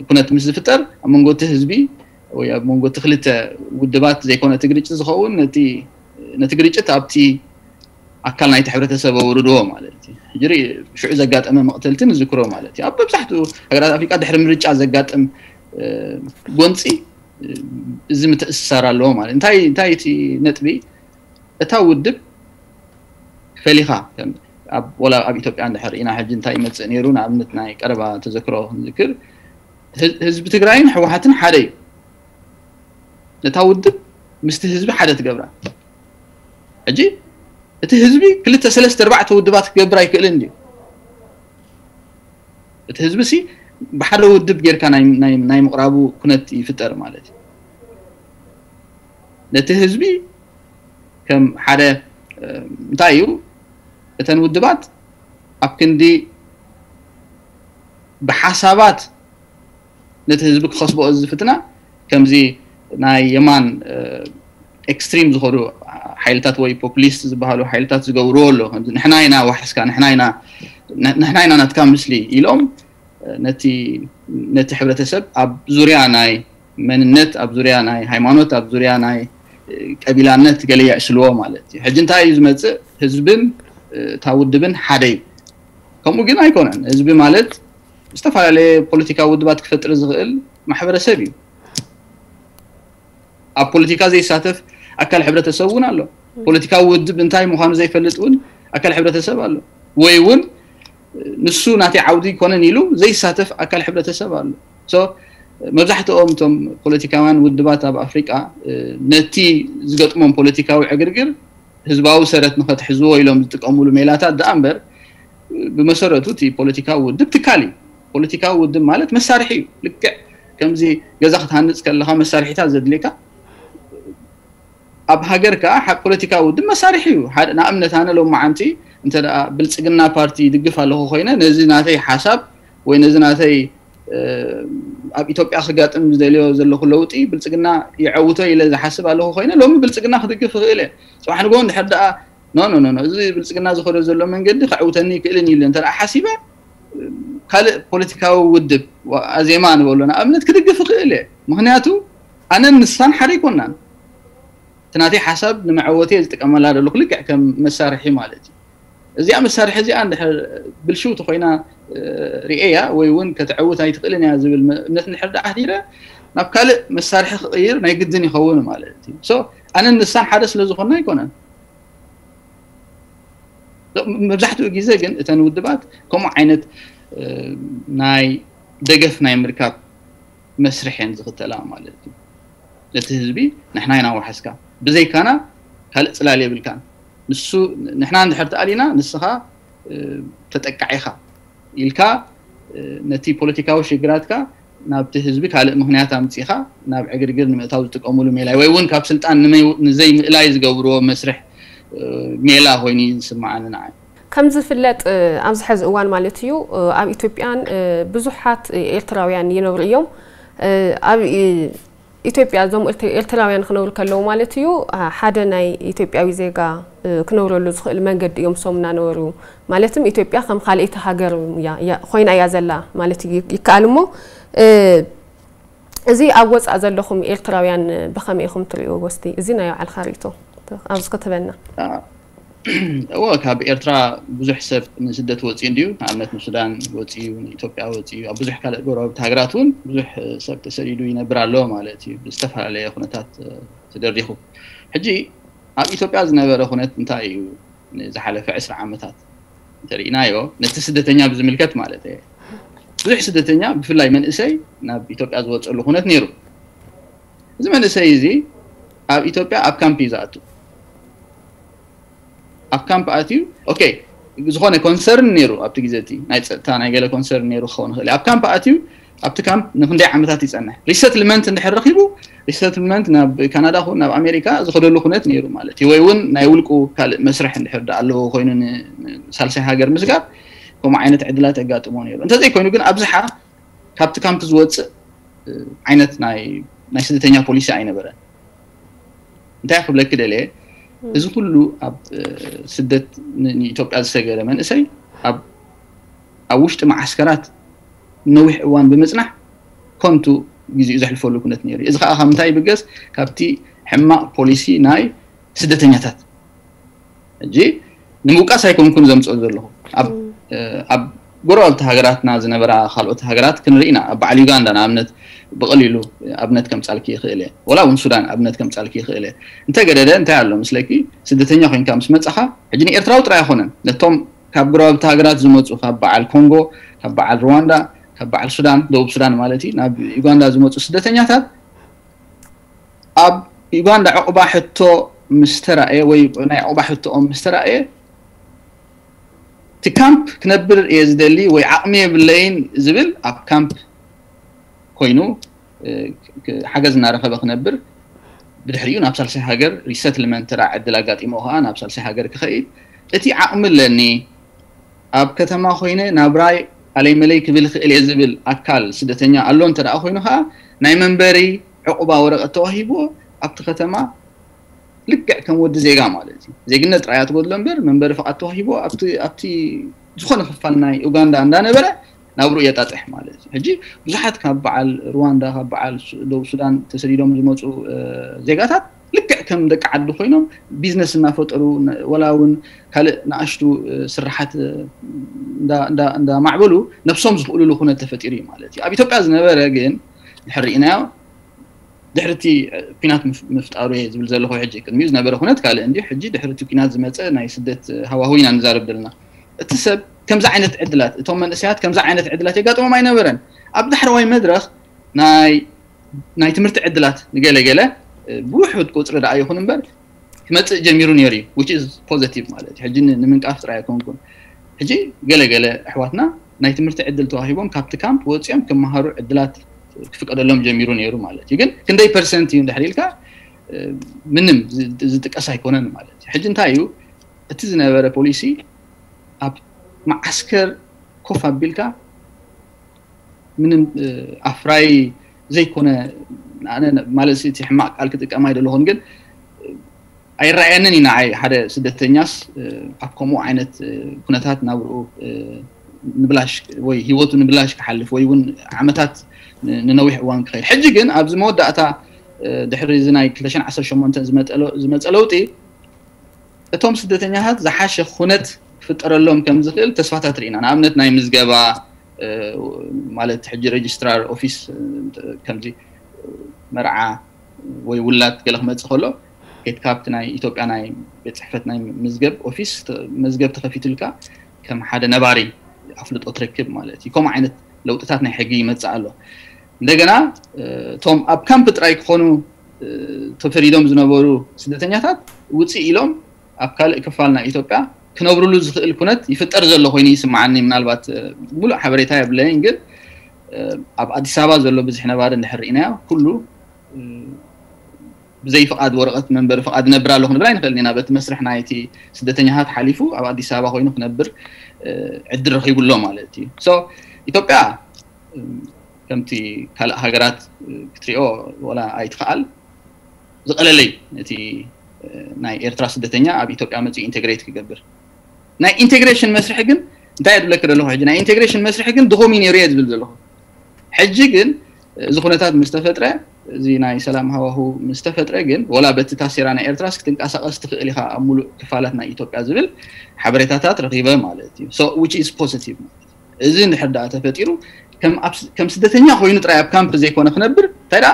ኩነት ምስ ዝፍጠር ኣብ መንጎ እቲ ህዝቢ ወይ ኣብ መንጎ እቲ ክልተ ውድባት ዘይኮነ እቲ ግርጭት ዝኸውን ነቲ ግርጭት ኣብቲ ኣካል ናይቲ ሕብረተሰብ ኣውርድዎ ማለት እዩ። ሕጂ ሽዑ ዘጋጠመ መቕተልቲ ንዝክሮ ማለት እዩ። ኣብ መብዛሕትኡ ሃገራት ኣፍሪቃ ድሕሪ ምርጫ ዘጋጥም ጎንፂ እዚ ምትእስሳር ኣለዎ ማለት እንታይ እንታይ እቲ ነጥቢ እታ ውድብ ፈሊኻ ወላ ኣብ ኢትዮጵያ እንድሕር ኢና ሕጂ እንታይ ይመፅእ ነይሩ ንኣብነት ናይ ቀረባ ተዘክሮ ክንዝክር ህዝቢ ትግራይን ህወሓትን ሓደ እዩ ነታ ውድብ ምስቲ ህዝቢ ሓደ ትገብራ ሕጂ እቲ ህዝቢ ክልተ ሰለስተ ኣርባዕተ ውድባት ክገብር ኣይክእልን ድዩ እቲ ህዝቢ ሲ ብሓደ ውድብ ጌርካ ናይ ምቕራቡ ኩነት ይፍጠር ማለት እዩ ነቲ ህዝቢ ከም ሓደ እንታይ እዩ እተን ውድባት ኣብ ክንዲ ብሓሳባት ነቲ ህዝቢ ክኸስብኦ ዝፍትና ከምዚ ናይ የማን ኤክስትሪም ዝኾኑ ሓይልታት ወይ ፖፕሊስት ዝበሃሉ ሓይልታት ዝገብርዎ ኣሎ ንሕና ኢና ዋሕስካ ንሕና ኢና ናትካ ምስሊ ኢሎም ነቲ ነቲ ሕብረተሰብ ኣብ ዙርያ ናይ መንነት ኣብ ዙርያ ናይ ሃይማኖት ኣብ ዙርያ ናይ ቀቢላነት ገለ የዕስልዎ ማለት እዩ ሕጂ እንታይ እዩ ዝመፅእ ህዝብን እታ ውድብን ሓደ እዩ ከምኡ ግን ኣይኮነን ህዝቢ ማለት ዝተፈላለየ ፖለቲካዊ ውድባት ክፈጥር ዝኽእል ማሕበረሰብ እዩ ኣብ ፖለቲካ ዘይሳተፍ ኣካል ሕብረተሰብ እውን ኣሎ ፖለቲካዊ ውድብ እንታይ ምዃኑ ዘይፈልጥ እውን ኣካል ሕብረተሰብ ኣሎ ወይ እውን ንሱ ናተይ ዓውዲ ይኮነን ኢሉ ዘይሳተፍ ኣካል ሕብረተሰብ ኣሎ መብዛሕትኦም እቶም ፖለቲካውያን ውድባት ኣብ ኣፍሪቃ ነቲ ዝገጥሞም ፖለቲካዊ ዕግርግር ህዝባዊ ሰረት ንኸትሕዝዎ ኢሎም ዝጥቀምሉ ሜላታት ደኣ እምበር ብመሰረቱ እቲ ፖለቲካዊ ውድብ ትካል እዩ ፖለቲካዊ ውድብ ማለት መሳርሒ እዩ ልክዕ ከምዚ ገዛ ክትሃንፅ ከለካ መሳርሒታት ዘድልየካ ኣብ ሃገር ከዓ ፖለቲካዊ ውድብ መሳርሒ እዩ ንኣብነት ኣነ ሎማዓንቲ እንተ ብልፅግና ፓርቲ ይድግፍ ኣለኹ ኮይነ ነዚ ናተይ ሓሳብ ወይ ነዚ ናተይ ኣብ ኢትዮጵያ ክጋጥም ዝደልዮ ዘለኹ ለውጢ ብልፅግና ይዐውቶ ኢለ ዝሓስብ ኣለኹ ኮይነ ሎሚ ብልፅግና ክድግፍ ይኽእል እየ ፅባሕ ንግሆ እንድሕር ደኣ ኖ ኖ ኖ እዚ ብልፅግና ዝኸዶ ዘሎ መንገዲ ከዕውተኒ ይክእልን ኢሉ እንተ ሓሲበ ካልእ ፖለቲካዊ ውድብ ኣዜማ ንበሎ ንኣብነት ክድግፍ ይኽእል እየ ምክንያቱ ኣነን ንሳን ሓደ ኣይኮናን እቲ ናተይ ሓሳብ ንመዐወቲ እየ ዝጥቀመላ ዘለኹ ልክዕ ከም መሳርሒ ማለት እዩ እዚኣ መሳርሒ እዚኣ እንድሕር ብልሽው ተኮይና ርእያ ወይ እውን ከተዕውት ኣይትኽእልን እያ ዝብል እምነት እንድሕር ደኣ ኣሕዲረ ናብ ካልእ መሳርሒ ክቕይር ናይ ግድን ይኸውን ማለት እዩ ኣነን ንሳን ሓደ ስለ ዝኾና ኣይኮነን መብዛሕትኡ ግዜ ግን እተን ውድባት ከምኡ ዓይነት ናይ ደገፍ ናይ ምርካብ መስርሕ እየን ዝኽተላ ማለት እዩ ነቲ ህዝቢ ንሕና ኢና ዋሕስካ ብዘይካና ካልእ ፅላል የብልካን ንሱ ንሕና እንድሕር ተኣሊና ንስኻ ተጠቃዒኻ ኢልካ ነቲ ፖለቲካዊ ሽግራትካ ናብቲ ህዝቢ ካልእ ምክንያት ኣምፂኻ ናብ ዕግርግር ንምእታው ዝጥቀምሉ ሜላ ወይ እውን ካብ ስልጣን ንዘይምእላይ ዝገብርዎ መስርሕ ሜላ ኮይኑ እዩ ዝስምዓኒ ንዓይ ከም ዝፍለጥ ኣብዚ ሕዚ እዋን ማለት እዩ ኣብ ኢትዮጵያን ብዙሓት ኤርትራውያን ይነብሩ እዮም ኣብ ኢትዮጵያ እዞም ኤርትራውያን ክነብሩ ከለዉ ማለት እዩ ሓደ ናይ ኢትዮጵያዊ ዜጋ ክነብረሉ ዝኽእል መንገዲ እዮም ሶም እናነበሩ ማለትም ኢትዮጵያ ከም ካልኣይቲ ሃገር ኮይና እያ ዘላ ማለት ይከኣል እሞ እዚ ኣብ ወፃእ ዘለኹም ኤርትራውያን ብኸመይ ኢኹም ትሪእዎ ወስቲ እዚ ናይ ባዕልካ ርእቶ ኣብዚ ክትበና እወ ካብ ኤርትራ ብዙሕ ሰብ ንስደት ወፂኡ እንድዩ ንኣብነት ንሱዳን ወፂኡ ንኢትዮጵያ ወፂኡ ኣብ ብዙሕ ካልእ ጎረባብቲ ሃገራት እውን ብዙሕ ሰብ ተሰዲዱ ይነብር ኣሎ ማለት እዩ ብዝተፈላለየ ኩነታት ተደሪኹ ሕጂ ኣብ ኢትዮጵያ ዝነበረ ኩነት እንታይ እዩ ንዝሓለፈ ዕስራ ዓመታት እንተሪእናዮ ነቲ ስደተኛ ብዝምልከት ማለት እየ ብዙሕ ስደተኛ ብፍላይ መንእሰይ ናብ ኢትዮጵያ ዝወፀሉ ኩነት ነይሩ እዚ መንእሰይ እዚ ኣብ ኢትዮጵያ ኣብ ካምፕ እዩ ዝኣቱ ኣብ ካምፕ ኣትዩ ኦኬ ዝኾነ ኮንሰርን ነይሩ ኣብቲ ግዜ እቲ ናይ ፀጥታ ናይ ገለ ኮንሰርን ነይሩ ክኸውን ይኽእል ኣብ ካምፕ ኣትዩ ኣብቲ ካምፕ ንክንደይ ዓመታት ይፀንሕ ሪሰትልመንት እንድሕር ረኪቡ ሪሰትልመንት ናብ ካናዳ ኹን ናብ ኣሜሪካ ዝኸደሉ ኩነት ነይሩ ማለት እዩ ወይ እውን ናይ ውልቁ ካልእ መስርሕ እንድሕር ዳ ኣለዎ ኮይኑ ንሳልሳይ ሃገር ምስጋር ከምኡ ዓይነት ዕድላት የጋጥሞ ነይሩ እንተዘይኮይኑ ግን ኣብዝሓ ካብቲ ካምፕ ዝወፅእ ዓይነት ናይ ስደተኛ ፖሊሲ ኣይነበረን እንታይ ክብለኪ ደልየ እዚ ኩሉ ኣብ ስደት ንኢትዮጵያ ዝሰገረ መንእሰይ ኣብ ውሽጢ መዓስከራት ነዊሕ እዋን ብምፅናሕ ከንቱ ግዜኡ ዘሕልፈሉ ኩነት ነይሩ እዚ ከዓ ካብ ምንታይ ይብገስ ካብቲ ሕማቕ ፖሊሲ ናይ ስደተኛታት ሕጂ ንምውቃስ ኣይኮንኩን ዘምፅኦ ዘለኹ ኣብ ጎረባብቲ ሃገራትና ዝነበራ ካልኦት ሃገራት ክንርኢ ኢና። ኣብ በዓል ዩጋንዳ ንኣብነት ብቐሊሉ ኣብነት ከምጻልኪ ይኽእል እየ። ወላ እውን ሱዳን ኣብነት ከምጻልኪ ይኽእል እየ። እንተገደደ እንታይ ኣሎ ምስለኪ፣ ስደተኛ ኮይንካ ምስ መጻኻ፣ ሕጂ ንኤርትራዊ ጥራይ ኣይኮነን፣ ነቶም ካብ ጎረባብቲ ሃገራት ዝመጹ፣ ካብ በዓል ኮንጎ፣ ካብ በዓል ሩዋንዳ፣ ካብ በዓል ሱዳን፣ ደቡብ ሱዳን ማለት እዩ፣ ናብ ዩጋንዳ ዝመጹ ስደተኛታት ኣብ ዩጋንዳ ዕቑባ ሕቶ ምስ ተራእየ ወይ ናይ ዕቑባ ሕቶኦም ምስ ተራእየ፣ እቲ ካምፕ ክነብር እየ ዝደሊ ወይ ዓቕሚ የብለይን ዝብል ኣብ ካምፕ ኮይኑ ሓገዝ እናረኸበ ክነብር፣ ብድሕሪኡ ናብ ሳልሳይ ሃገር ሪሰትልመንት ተራ ዕድል ኣጋጢሞ ከዓ ናብ ሳልሳይ ሃገር ክኸይድ፣ እቲ ዓቕሚ ኣለኒ፣ ኣብ ከተማ ኮይነ ናብራይ ኣለይ መለይ ክብል ይኽእል እየ ዝብል ኣካል ስደተኛ ኣሎ እንተ ደኣ ኮይኑ ከዓ፣ ናይ መንበሪ ዕቑባ ወረቐት ተዋሂብዎ ኣብቲ ከተማ ልክዕ ከም ወዲ ዜጋ ማለት እዩ። ዜግነት ጥራይ እያ ትጎድሎ እምበር መንበሪ ፍቓድ ተዋሂብዎ ኣብቲ ኣብቲ ዝኾነ ክፋል ናይ ኡጋንዳ እንዳነበረ ናብርኡ የጣጥሕ ማለት እዩ። ሕጂ ብዙሓት ካብ በዓል ሩዋንዳ፣ ካብ በዓል ሱ- ደቡብ ሱዳን ተሰዲዶም ዝመፁ እ፣ ዜጋታት ልክዕ ከም ደቂ ዓዲ ኮይኖም ቢዝነስ እናፈጠሩ ነ- ወላ እውን ካልእ ንኣሽቱ እ፣ ስራሓት እ፣ እንዳ- እንዳ- እንዳማዕበሉ ነብሶም ዝኽእሉሉ ኩነት ተፈጢሩ እዩ ማለት እዩ። ኣብ ኢትዮጵያ ዝነበረ ግን ድሕር ርኢናዮ ድሕርቲ ኩናት ምፍ- ምፍጣሩ እየ ዝብል ዘለኹ። ሕጂ ቅድሚኡ ዝነበረ ኩነት ካልእ እንዲዩ። ሕጂ ድሕርቲ ኩናት ዝመፀ ናይ ስደት ሃዋህው ኢና ንዛረብ ዘለና። እቲ ሰብ ከምዚ ዓይነት ዕድላት፣ እቶም መንእሰያት ከምዚ ዓይነት ዕድላት የጋጥሞም ኣይነበረን። ኣብ ዳሕረዋይ መድረኽ ናይ ናይ ትምህርቲ ዕድላት ንገለገለ ብውሑድ ቁፅሪ ደኣ ይኹን እምበር ክመፅእ ጀሚሩ ነይሩ እዩ። Which is positive ማለት እዩ። ሕጂ ን- ንምንቃፍ ጥራይ ኣይኮንኩን። ሕጂ ገለገለ ኣሕዋትና ናይ ትምህርቲ ዕድል ተዋሂቦም ካብቲ ካምፕ ወፂኦም ክመሃሩ ዕድላት ክፍቀደሎም ጀሚሩ ነይሩ ማለት እዩ። ግን ክንደይ ፐርሰንት እዩ እንድሕር ኢልካ ምንም ዝ- ዝጥቀስ ኣይኮነን ማለት እዩ። ሕጂ እንታይ እዩ እቲ ዝነበረ ፖሊሲ? ኣብ መዓስከር ኮፍ ኣቢልካ ምንም እ፣ ኣፍራይ ዘይኮነ ኣነ ማለት እቲ ሕማቕ ቃል ክጥቀም ኣይደለኹን፣ ግን እ፣ ኣይረኣየንን እዩ ንዓይ ሓደ ስደተኛስ እ፣ ኣብ ከምኡ ዓይነት እ፣ ኩነታት ናብርኡ እ፣ ንብላሽ ወይ ህይወቱ ንብላሽ ክሓልፍ ወይ እውን ዓመታት ን- ንነዊሕ እዋን ክኸይድ። ሕጂ ግን ኣብዚ መወዳእታ እ፣ ድሕሪ እዚ ናይ ክልተ ሽሕን ዓሰርተ ሸሞንተን ዝመጠ- ዝመፀ ለውጢ እቶም ስደተኛታት ዝሓሸ ኩነት ክፍጠረሎም ከም ዝኽእል ተስፋታት ርኢና። ንኣብነት ናይ ምዝገባ እ፣ ማለት ሕጂ ሬጅስትራር ኦፊስ እ፣ ከምዚ እ፣ መርዓ ወይ ውላድ ገለ ክመፅእ ከሎ ከይትካ ኣብቲ ናይ ኢትዮጵያ ናይ ቤት ፅሕፈት ናይ ምዝገብ ኦፊስ ተ- መዝገብ ተኸፊቱልካ ከም ሓደ ነባሪ ኣፍልጦ ትረክብ ማለት እዩ። ከምኡ ዓይነት ለውጥታት ናይ ሕጊ ይመፅእ ኣሎ። እንደገና እ፣ እቶም ኣብ ካምፕ ጥራይ ክኾኑ እ፣ ተፈሪዶም ዝነበሩ ስደተኛታት ውፅእ ኢሎም ኣብ ካልእ ክፋል ናይ ኢትዮጵያ ክነብርሉ ዝኽእል ኩነት ይፍጠር ዘሎ ኮይኑ ይስምዓኒ። ምናልባት እ፣ ሙሉእ ሓበሬታ የብለይን፣ ግን እ፣ ኣብ ኣዲስ ኣበባ ዘሎ ብዙሕ ነባሪ እንድሕር ርኢናዮ ኩሉ እ፣ ብዘይ ፍቓድ ወረቐት መንበሪ ፍቓድ እነብር ኣለኹ ንብል ኣይንኽእልን ኢና። በቲ መስርሕ ናይቲ ስደተኛታት ሓሊፉ ኣብ ኣዲስ ኣበባ ኮይኑ ክነብር እ፣ ዕድል ረኺቡ ኣሎ ማለት እዩ። So ኢትዮጵያ እ፣ ከምቲ ካልእ ሃገራት እ፣ ክትሪኦ ወላ ኣይትኽኣል ዝቐለለይ እቲ እ፣ ናይ ኤርትራ ስደተኛ ኣብ ኢትዮጵያ መፅኡ ኢንቴግሬት ክገብር። ናይ ኢንቴግሬሽን መስርሒ ግን እንታይ የድብለክ ዘለኹ ሕጂ ናይ ኢንቴግሬሽን መስርሒ ግን ድኹም እዩ ነይሩ እየ ዝብል ዘለኹ። ሕጂ ግን እዚ ኩነታት ምስ ተፈጥረ፣ እዚ ናይ ሰላም ሃዋሁ ምስ ተፈጥረ ግን ወላ በቲ ታሴራ ናይ ኤርትራስ ክትንቀሳቐስ ትኽእል ኢኻ ኣብ ሙሉእ ክፋላት ናይ ኢትዮጵያ ዝብል ሓበሬታታት ረኺበ ማለት እዩ። So which is positive ማለት እዩ። እዚ እንድሕር ደኣ ተፈጢሩ ከም ኣብ ስ- ከም ስደተኛ ኮይኑ ጥራይ ኣብ ካምፕ ዘይኮነ ክነብር እንታይ ደኣ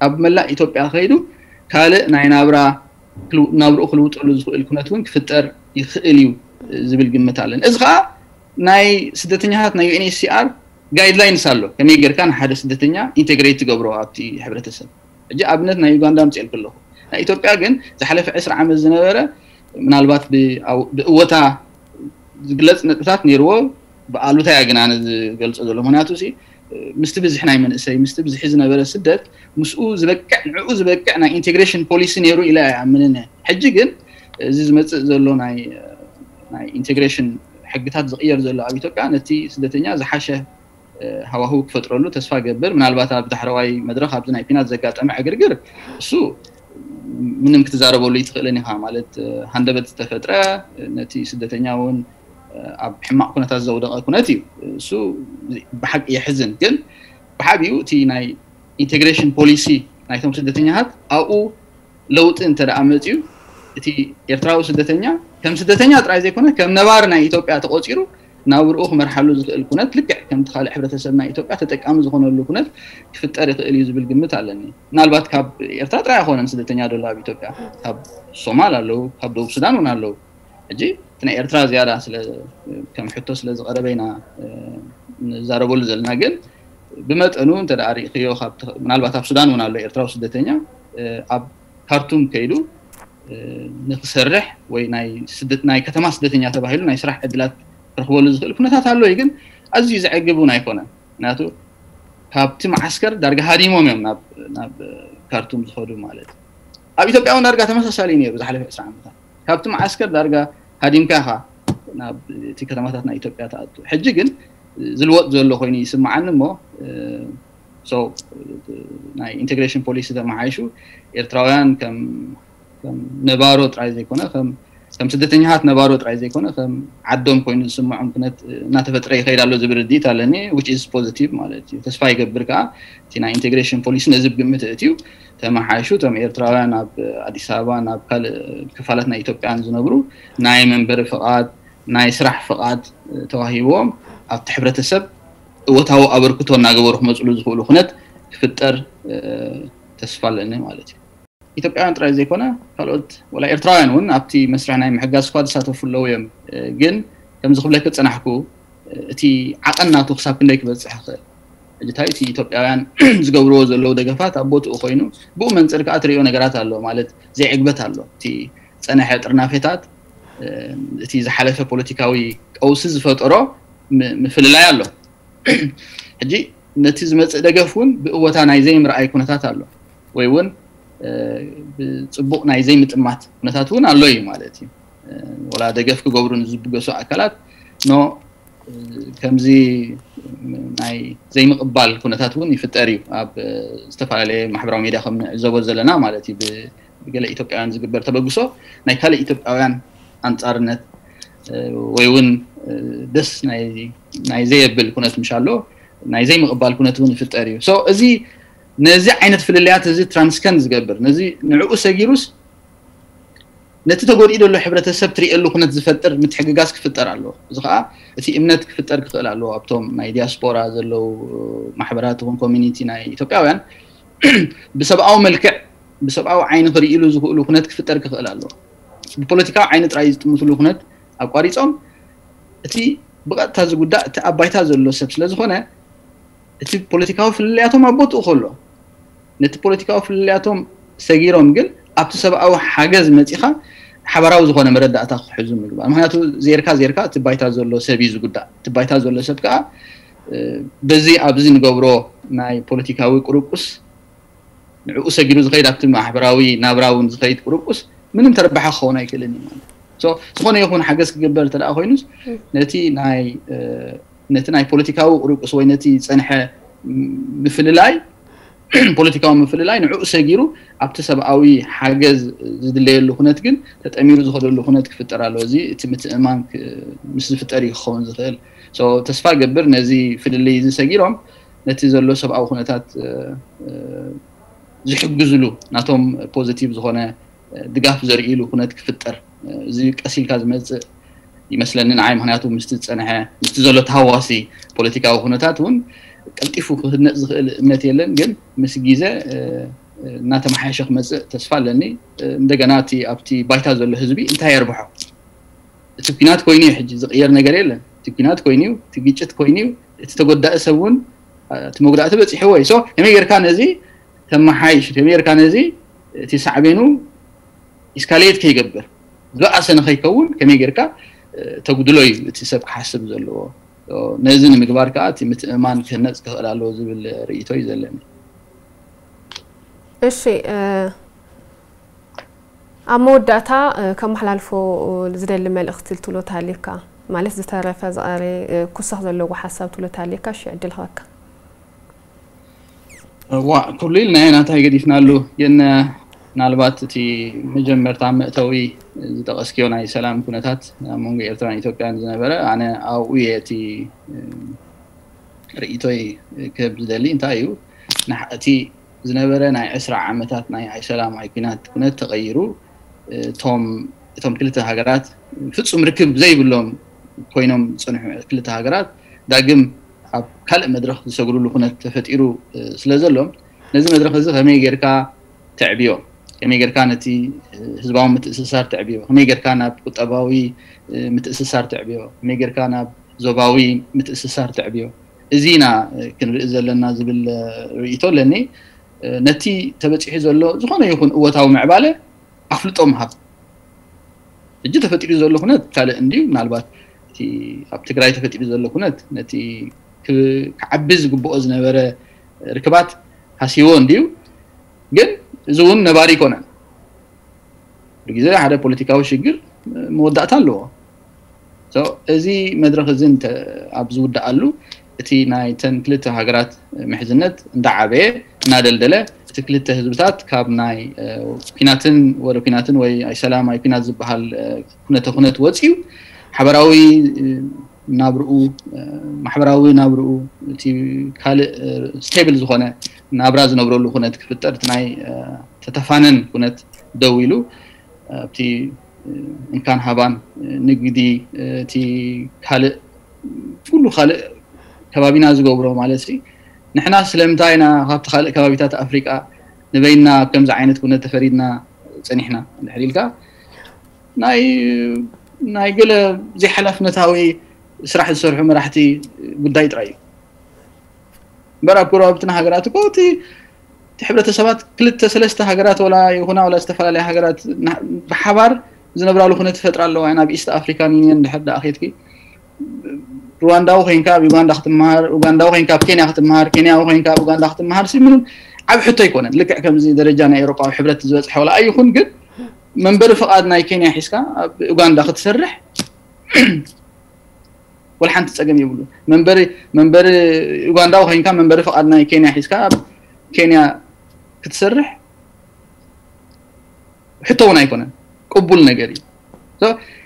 ኣብ መላእ ኢትዮጵያ ከይዱ ካልእ ናይ ናብራ ክልው- ናብርኡ ክልውጠሉ ዝኽእል ኩነት እውን ክፍጠር ይኽእል እዩ ዝብል ግምት ኣለኒ። እዚ ከዓ ናይ ስደተኛታት ናይ ዩኤንኤችሲኣር ጋይድላይንስ ኣሎ፣ ከመይ ጌርካ ንሓደ ስደተኛ ኢንቴግሬት ትገብሮ ኣብቲ ሕብረተሰብ። ሕጂ ኣብነት ናይ ዩጋንዳ ኣምፅኤልክ ኣለኹ። ናይ ኢትዮጵያ ግን ዝሓለፈ ዕስራ ዓመት ዝነበረ ምናልባት ብኣው- ብእወታ ዝግለፅ ነጥብታት ነይርዎ፣ ብኣሉታ እያ ግን ኣነ ዝገልፆ ዘሎ። ምክንያቱ ሲ ምስቲ ብዝሒ ናይ መንእሰይ ምስቲ ብዝሒ ዝነበረ ስደት ምስኡ ዝበቅዕ ንዕኡ ዝበቅዕ ናይ ኢንቴግሬሽን ፖሊሲ ነይሩ ኢለ ኣይኣምንን እየ። ሕጂ ግን እዚ ዝመፅእ ዘሎ ናይ ናይ ኢንቴግሬሽን ሕግታት ዝቕየር ዘሎ ኣብ ኢትዮጵያ ነቲ ስደተኛ ዝሓሸ ሃዋህው ክፈጥረሉ ተስፋ ገብር። ምናልባት ኣብ ዳሕረዋይ መድረኽ ኣብዚ ናይ ኲናት ዘጋጠመ ዕግርግር እሱ ምንም ክትዛረበሉ ይትኽእልን ኢኻ። ማለት ሃንደበት ዝተፈጥረ ነቲ ስደተኛ እውን ኣብ ሕማቕ ኩነታት ዘውደቐ ኩነት እዩ። እሱ ብሓቂ የሕዝን። ግን ብሓቢኡ እቲ ናይ ኢንቴግሬሽን ፖሊሲ ናይቶም ስደተኛታት ኣብኡ ለውጢ እንተ ደኣ መፅዩ እቲ ኤርትራዊ ስደተኛ ከም ስደተኛ ጥራይ ዘይኮነ ከም ነባሪ ናይ ኢትዮጵያ ተቆፂሩ ናብርኡ ክመርሓሉ ዝኽእል ኩነት ልክዕ ከምቲ ካልእ ሕብረተሰብ ናይ ኢትዮጵያ ተጠቃሚ ዝኾነሉ ኩነት ክፍጠር ይኽእል እዩ ዝብል ግምት ኣለኒ። ምናልባት ካብ ኤርትራ ጥራይ ኣይኮነን ስደተኛ ዘሎ ኣብ ኢትዮጵያ፣ ካብ ሶማል ኣለዉ፣ ካብ ደቡብ ሱዳን እውን ኣለዉ። ሕጂ እቲ ናይ ኤርትራ ዝያዳ ስለ ከም ሕቶ ስለ ዝቐረበ ኢና ንዛረበሉ ዘለና። ግን ብመጠኑ እንተ ርኢኽዮ፣ ምናልባት ኣብ ሱዳን እውን ኣሎ ኤርትራዊ ስደተኛ ኣብ ካርቱም ከይዱ ንክሰርሕ ወይ ናይ ከተማ ስደተኛ ተባሂሉ ናይ ስራሕ ዕድላት ክረኽበሉ ዝኽእል ኩነታት ኣሎ እዩ። ግን ኣዝዩ ዘዕግብ እውን ኣይኮነን። ምክንያቱ ካብቲ መዓስከር ዳርጋ ሃዲሞም እዮም ናብ ካርቱም ዝኸዱ ማለት እዩ። ኣብ ኢትዮጵያ እውን ዳርጋ ተመሳሳሊ ነይሩ። ዝሓለፈ ዕስራ ዓመታት ካብቲ መዓስከር ዳርጋ ሃዲምካ ኢኻ ናብ እቲ ከተማታት ናይ ኢትዮጵያ ትኣቱ። ሕጂ ግን ዝልወጥ ዘሎ ኮይኑ ይስምዓኒ እሞ ናይ ኢንቴግሬሽን ፖሊሲ ተመሓይሹ ኤርትራውያን ከም ነባሮ ጥራይ ዘይኮነ ከም ስደተኛታት ነባሮ ጥራይ ዘይኮነ ከም ዓዶም ኮይኑ ዝስምዖም ኩነት እናተፈጥረ ይኸይድ ኣሎ ዝብል ርድኢት ኣለኒ። Which is positive ማለት እዩ። ተስፋ ይገብር ከዓ እቲ ናይ ኢንቴግሬሽን ፖሊሲ ነዚ ብግምት እእትዩ ተመሓይሹ እቶም ኤርትራውያን ኣብ ኣዲስ ኣበባ ናብ ካልእ ክፋላት ናይ ኢትዮጵያን ዝነብሩ ናይ መንበሪ ፍቓድ ናይ ስራሕ ፍቓድ ተዋሂብዎም ኣብቲ ሕብረተሰብ እወታዊ ኣበርክቶ እናገበሩ ክመፅሉ ዝኽእሉ ኩነት ክፍጠር ተስፋ ኣለኒ ማለት እዩ። ኢትዮጵያውያን ጥራይ ዘይኮነ ካልኦት ወላ ኤርትራውያን እውን ኣብቲ መስርሕ ናይ ምሕጋዝ እኳ ዝሳተፉ ኣለዉ እዮም። ግን ከምዚ ክብለክ ዝፀናሕኩ እቲ ዓቐን ናቱ ክሳብ ክንደይ ክበፅሕ ይኽእል? ሕጂ እንታይ እቲ ኢትዮጵያውያን ዝገብርዎ ዘለዉ ደገፋት ኣብ ቦትኡ ኮይኑ ብኡ መንፅር ከዓ ትሪኦ ነገራት ኣሎ ማለት ዘይዕግበት ኣሎ። እቲ ፀነሐ ጥርናፌታት እቲ ዝሓለፈ ፖለቲካዊ ቀውሲ ዝፈጠሮ ምፍልላይ ኣሎ። ሕጂ ነቲ ዝመፅእ ደገፍ እውን ብእወታ ናይ ዘይምርኣይ ኩነታት ኣሎ ወይ እውን ብፅቡቕ ናይ ዘይምጥማት ኩነታት እውን ኣሎ እዩ ማለት እዩ። ወላ ደገፍ ክገብሩ ንዝብገሱ ኣካላት ኖ ከምዚ ናይ ዘይምቕባል ኩነታት እውን ይፍጠር እዩ። ኣብ ዝተፈላለየ ማሕበራዊ ሚድያ ከም ንዕዘቦ ዘለና ማለት እዩ ብገለ ኢትዮጵያውያን ዝግበር ተበግሶ ናይ ካልእ ኢትዮጵያውያን ኣንፃርነት ወይ እውን ደስ ናይ ዘየብል ኩነት ምሻሎ ናይ ዘይምቕባል ኩነት እውን ይፍጠር እዩ። እዚ ነዚ ዓይነት ፍልልያት እዚ ትራንስከንድ ዝገብር ነዚ ንዕኡ ሰጊሩስ ነቲ ተጎዲኡ ዘሎ ሕብረተሰብ ትሪእሉ ኩነት ዝፈጥር ምትሕግጋዝ ክፍጠር ኣለዎ። እዚ ከዓ እቲ እምነት ክፍጠር ክኽእል ኣለዎ ኣብቶም ናይ ዲያስፖራ ዘለዉ ማሕበራት ይኹን ኮሚኒቲ ናይ ኢትዮጵያውያን ብሰብኣዊ መልክዕ ብሰብኣዊ ዓይኒ ክርእሉ ዝኽእሉ ኩነት ክፍጠር ክኽእል ኣለዎ። ብፖለቲካዊ ዓይኒ ጥራይ ዝጥምትሉ ኩነት ኣቋሪፆም እቲ ብቐጥታ ዝጉዳእ እቲ ኣብ ባይታ ዘሎ ሰብ ስለ ዝኾነ እቲ ፖለቲካዊ ፍልልያቶም ኣብ ቦትኡ ከሎ ነቲ ፖለቲካዊ ፍልልያቶም ሰጊሮም ግን ኣብቲ ሰብኣዊ ሓገዝ መፂኻ ሓበራዊ ዝኾነ መረዳእታ ክሕዙ ምግባር። ምክንያቱ ዜርካ ዜርካ እቲ ባይታ ዘሎ ሰብ እዩ ዝጉዳእ። እቲ ባይታ ዘሎ ሰብ ከዓ በዚ ኣብዚ ንገብሮ ናይ ፖለቲካዊ ቁርቁስ ንዕኡ ሰጊሩ ዝኸይድ ኣብቲ ማሕበራዊ ናብራ እውን ዝኸይድ ቁርቁስ ምንም ተረባሒ ክኸውን ኣይክእልን እዩ ማለት። ዝኾነ ይኹን ሓገዝ ክግበር እንተ ኮይኑስ ነቲ ናይ ነቲ ናይ ፖለቲካዊ ቁርቁስ ወይ ነቲ ዝፀንሐ ምፍልላይ ፖለቲካዊ ምፍልላይ ንዕኡ ሰጊሩ ኣብቲ ሰብኣዊ ሓገዝ ዝድለየሉ ኩነት ግን ተጠሚሩ ዝኸደሉ ኩነት ክፍጠር ኣለዎ። እዚ እቲ ምትእማን ምስ ዝፍጠር እዩ ክኸውን ዝኽእል። ተስፋ ገብር ነዚ ፍልልይ እዚ ሰጊሮም ነቲ ዘሎ ሰብኣዊ ኩነታት ዝሕግዝሉ ናቶም ፖዚቲቭ ዝኾነ ድጋፍ ዘርእሉ ኩነት ክፍጠር እዚ ቀስ ኢልካ ዝመፅእ ይመስለኒ ንዓይ። ምክንያቱ ምስቲ ዝፀንሐ ምስቲ ዘሎ ተሃዋሲ ፖለቲካዊ ኩነታት እውን ቀልጢፉ ክህነፅ ዝኽእል እምነት የለን። ግን ምስ ግዜ እናተመሓየሸ ክመፅእ ተስፋ ኣለኒ። እንደገና እቲ ኣብቲ ባይታ ዘሎ ህዝቢ እንታይ የርብሖ? እቲ ኩናት ኮይኑ እዩ ሕጂ ዝቕየር ነገር የለን። እቲ ኩናት ኮይኑ እዩ፣ እቲ ግጭት ኮይኑ እዩ። እቲ ተጎዳኢ ሰብ እውን እቲ መጉዳእቲ በፂሕዎ እዩ። ከመይ ጌርካ ነዚ ተመሓይሽ ከመይ ጌርካ ነዚ እቲ ሳዕቤኑ ኢስካሌት ከይገብር ዝበኣሰ ንኸይከውን ከመይ ጌርካ ተጉድሎ እዩ እቲ ሰብ ክሓስብ ዘለዎ። ነዚ ንምግባር ከዓ እቲ ምትእማን ክህነፅ ክኽእል ኣለዎ ዝብል ርእይቶ እዩ ዘለኒ። እሺ ኣብ መወዳእታ ከመሓላልፎ ዝደሊ መልእኽቲ ትብሎ ተሃልዩካ ማለት ዝተረፈ ዝቐረ ክውሰኽ ዘለዎ ሓሳብ ትብሎ ተሃልዩካ እሺ ዕድል ክበካ። ዋ ኩሉ ኢልና ኢና እንታይ ገዲፍናሉ ግን ምናልባት እቲ መጀመርታ መእተዊ ዝጠቐስክዮ ናይ ሰላም ኩነታት ኣብ መንጎ ኤርትራን ኢትዮጵያን ዝነበረ ኣነ ኣብኡ እየ እቲ ርእይቶይ ክህብ ዝደሊ እንታይ እዩ እቲ ዝነበረ ናይ ዕስራ ዓመታት ናይ ኣይሰላም ኣይኩናት ኩነት ተቐይሩ እቶም ክልተ ሃገራት ፍፁም ርክብ ዘይብሎም ኮይኖም ዝፀንሑ ክልተ ሃገራት ዳግም ኣብ ካልእ መድረኽ ዝሰግሩሉ ኩነት ተፈጢሩ ስለ ዘሎ፣ ነዚ መድረኽ እዚ ከመይ ጌርካ ተዕብዮ፣ ከመይ ጌርካ ነቲ ህዝባዊ ምትእስሳር ተዕብዮ፣ ከመይ ጌርካ ናብ ቁጠባዊ ምትእስሳር ተዕብዮ፣ ከመይ ጌርካ ናብ ዞባዊ ምትእስሳር ተዕብዮ፣ እዚ ኢና ክንርኢ ዘለና ዝብል ርእይቶ ኣለኒ። ነቲ ተበፂሑ ዘሎ ዝኾነ ይኹን እወታዊ ምዕባለ ኣፍልጦ ምሃብ። ሕጂ ተፈጢሩ ዘሎ ኩነት ካልእ እንድዩ። ምናልባት እቲ ኣብ ትግራይ ተፈጢሩ ዘሎ ኩነት ነቲ ክዓቢ ዝግብኦ ዝነበረ ርክባት ሃሲዎ እንድዩ። ግን እዚ እውን ነባሪ ኣይኮነን። ብግዜ ሓደ ፖለቲካዊ ሽግር መወዳእታ ኣለዎ። እዚ መድረኽ እዚ ኣብ ዝውዳኣሉ እቲ ናይተን ክልተ ሃገራት ምሕዝነት እንዳዓበየ እናደልደለ፣ እቲ ክልተ ህዝብታት ካብ ናይ ኩናትን ወረ ኩናትን ወይ ኣይሰላም ኣይኩናት ዝበሃል ኩነተ ኩነት ወፅዩ ሓበራዊ ናብርኡ፣ ማሕበራዊ ናብርኡ፣ እቲ ካልእ ስቴብል ዝኾነ ናብራ ዝነብረሉ ኩነት ክፍጠር፣ እቲ ናይ ተተፋነን ኩነት ደው ኢሉ ኣብቲ እንካን ሃባን ንግዲ፣ እቲ ካልእ ኩሉ ካልእ ከባቢና ዝገብሮ ማለት ሲ፣ ንሕና ስለምንታይ ኢና ካብቲ ካልእ ከባቢታት ኣፍሪቃ ንበይና ኣብ ከምዚ ዓይነት ኩነት ተፈሪድና ጸኒሕና እንድሕር ኢልካ፣ ናይ ናይ ገለ ዘይሓላፍነታዊ ስራሕ ዝሰርሑ መራሕቲ ጉዳይ ጥራይ እዩ። እምበር ኣብ ጎረባብትና ሃገራት እኮ እቲ እቲ ሕብረተሰባት ክልተ ሰለስተ ሃገራት ወላ ይኹና ወላ ዝተፈላለያ ሃገራት ብሓባር ዝነብራሉ ኩነት ይፈጥራ ኣለዋ። ናብ ኢስት ኣፍሪካን ዩኒየን ድሕር ደኣ ኬድኪ፣ ሩዋንዳዊ ኮይንካ ኣብ ዩጋንዳ ክትመሃር፣ ኡጋንዳዊ ኮይንካ ኣብ ኬንያ ክትመሃር፣ ኬንያዊ ኮይንካ ኣብ ኡጋንዳ ክትመሃር ሲ ምንም ዓብ ሕቶ ኣይኮነን። ልክዕ ከምዚ ደረጃ ናይ ኤውሮጳዊ ሕብረት ዝበፅሐ ወላ ኣይኹን፣ ግን መንበሪ ፍቓድ ናይ ኬንያ ሒዝካ ኣብ ኡጋንዳ ክትሰርሕ ወላ ሓንቲ ጸገም የብሉ። መንበሪ መንበሪ ኡጋንዳዊ ኮይንካ መንበሪ ፍቓድ ናይ ኬንያ ሒዝካ ኣብ ኬንያ ክትሰርሕ ሕቶ እውን ኣይኮነን፣ ቅቡል ነገር እዩ።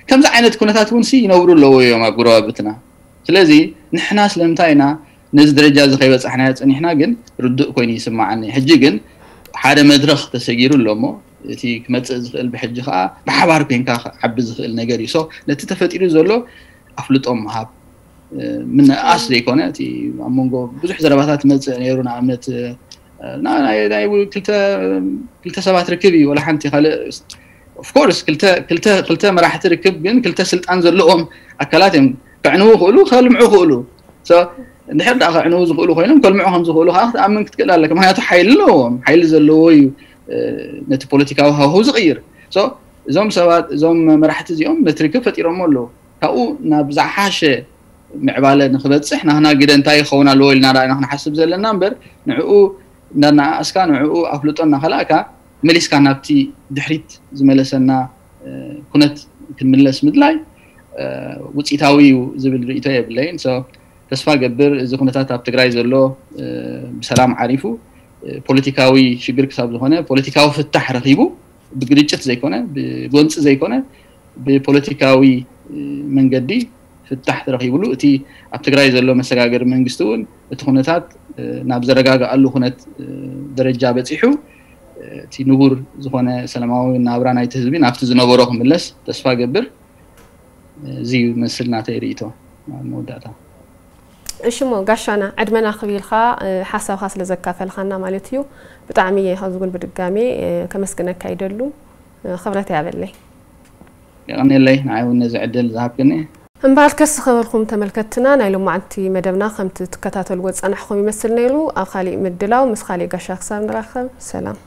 ከምዚ ዓይነት ኩነታት እውን ሲ ይነብሩ ኣለዎ እዮም ኣብ ጉረባብትና። ስለዚ ንሕና ስለምንታይ ኢና ነዚ ደረጃ እዚ ከይበጻሕናዮ ጸኒሕና ግን ርዱእ ኮይኑ ይስምዓኒ። ሕጂ ግን ሓደ መድረኽ ተሰጊሩ ኣሎ እሞ እቲ ክመጽእ ዝኽእል ብሕጂ ከዓ ብሓባር ኮይንካ ክዓቢ ዝኽእል ነገር እዩ። ነቲ ተፈጢሩ ዘሎ ኣፍልጦ ምሃብ ምንኣስ ዘይኮነ እቲ ኣብ መንጎ ብዙሕ ዘረባታት መፅእ ነይሩ። ንኣብነት ክልተ ሰባት ርክብ እዩ ወላ ሓንቲ ካልእ ኦፍኮርስ ክልተ መራሕቲ ርክብ ግን ክልተ ስልጣን ዘለዎም ኣካላት እዮም። ከዕንዉ ክእሉ ከልምዑ ክእሉ እንድሕር ዳ ከዕንዉ ዝኽእሉ ኮይኖም ከልምዑ ከም ዝኽእሉ ከዓ ክትኣምን ክትክእል ኣለካ። ምክንያቱ ሓይሊ ኣለዎም። ሓይሊ ዘለዎ እዩ ነቲ ፖለቲካዊ ሃሁ ዝቕይር። እዞም ሰባት እዞም መራሕቲ እዚኦም ነቲ ርክብ ፈጢሮሞ ኣለዉ። ካብኡ ናብ ዝሓሸ ምዕባለ ንክበፅሕ ናህና ግደ እንታይ ይኸውን ኣለዎ ኢልና ዳ ኢና ክንሓስብ ዘለና እምበር ንዕኡ እንዳናኣስካ ንዕኡ ኣፍልጦ እናኸላእካ መሊስካ ናብቲ ድሕሪት ዝመለሰና ኩነት ክንምለስ ምድላይ ውፅኢታዊ እዩ ዝብል ርእቶ የብለይን። ተስፋ ገብር እዚ ኩነታት ኣብ ትግራይ ዘሎ ብሰላም ዓሪፉ ፖለቲካዊ ሽግር ክሳብ ዝኾነ ፖለቲካዊ ፍታሕ ረኺቡ ብግርጭት ዘይኮነ ብጎንፂ ዘይኮነ ብፖለቲካዊ መንገዲ ፍታሕ ተረኺብሉ እቲ ኣብ ትግራይ ዘሎ መሰጋገሪ መንግስቲ እውን እቲ ኩነታት ናብ ዘረጋግኣሉ ኩነት ደረጃ በፂሑ እቲ ንቡር ዝኾነ ሰላማዊ ናብራ ናይቲ ህዝቢ ናብቲ ዝነበሮ ክምለስ ተስፋ ገብር። እዚ ይመስል ናተይ ርእቶ ኣብ መወዳእታ። እሺ እሞ ጋሻና ዕድመና ክቢልካ ሓሳብካ ስለ ዘካፈልካና ማለት እዩ ብጣዕሚ እየ ካብዚ እውን ብድጋሜ ከመስግነካ ይደሉ። ክብረት ያበለይ። የቐኔለይ ንዓይ እውን ነዚ ዕድል ዝሃብክኒ። እምበኣልከስ ዝኸበርኩም ተመልከትትና ናይ ሎማዓንቲ መደብና ከምቲ ትከታተልዎ ዝጸናሕኩም ይመስል ነይሩ። ኣብ ካሊእ ምድላው ምስ ካሊእ ጋሻ ክሳብ ንራኸብ ሰላም።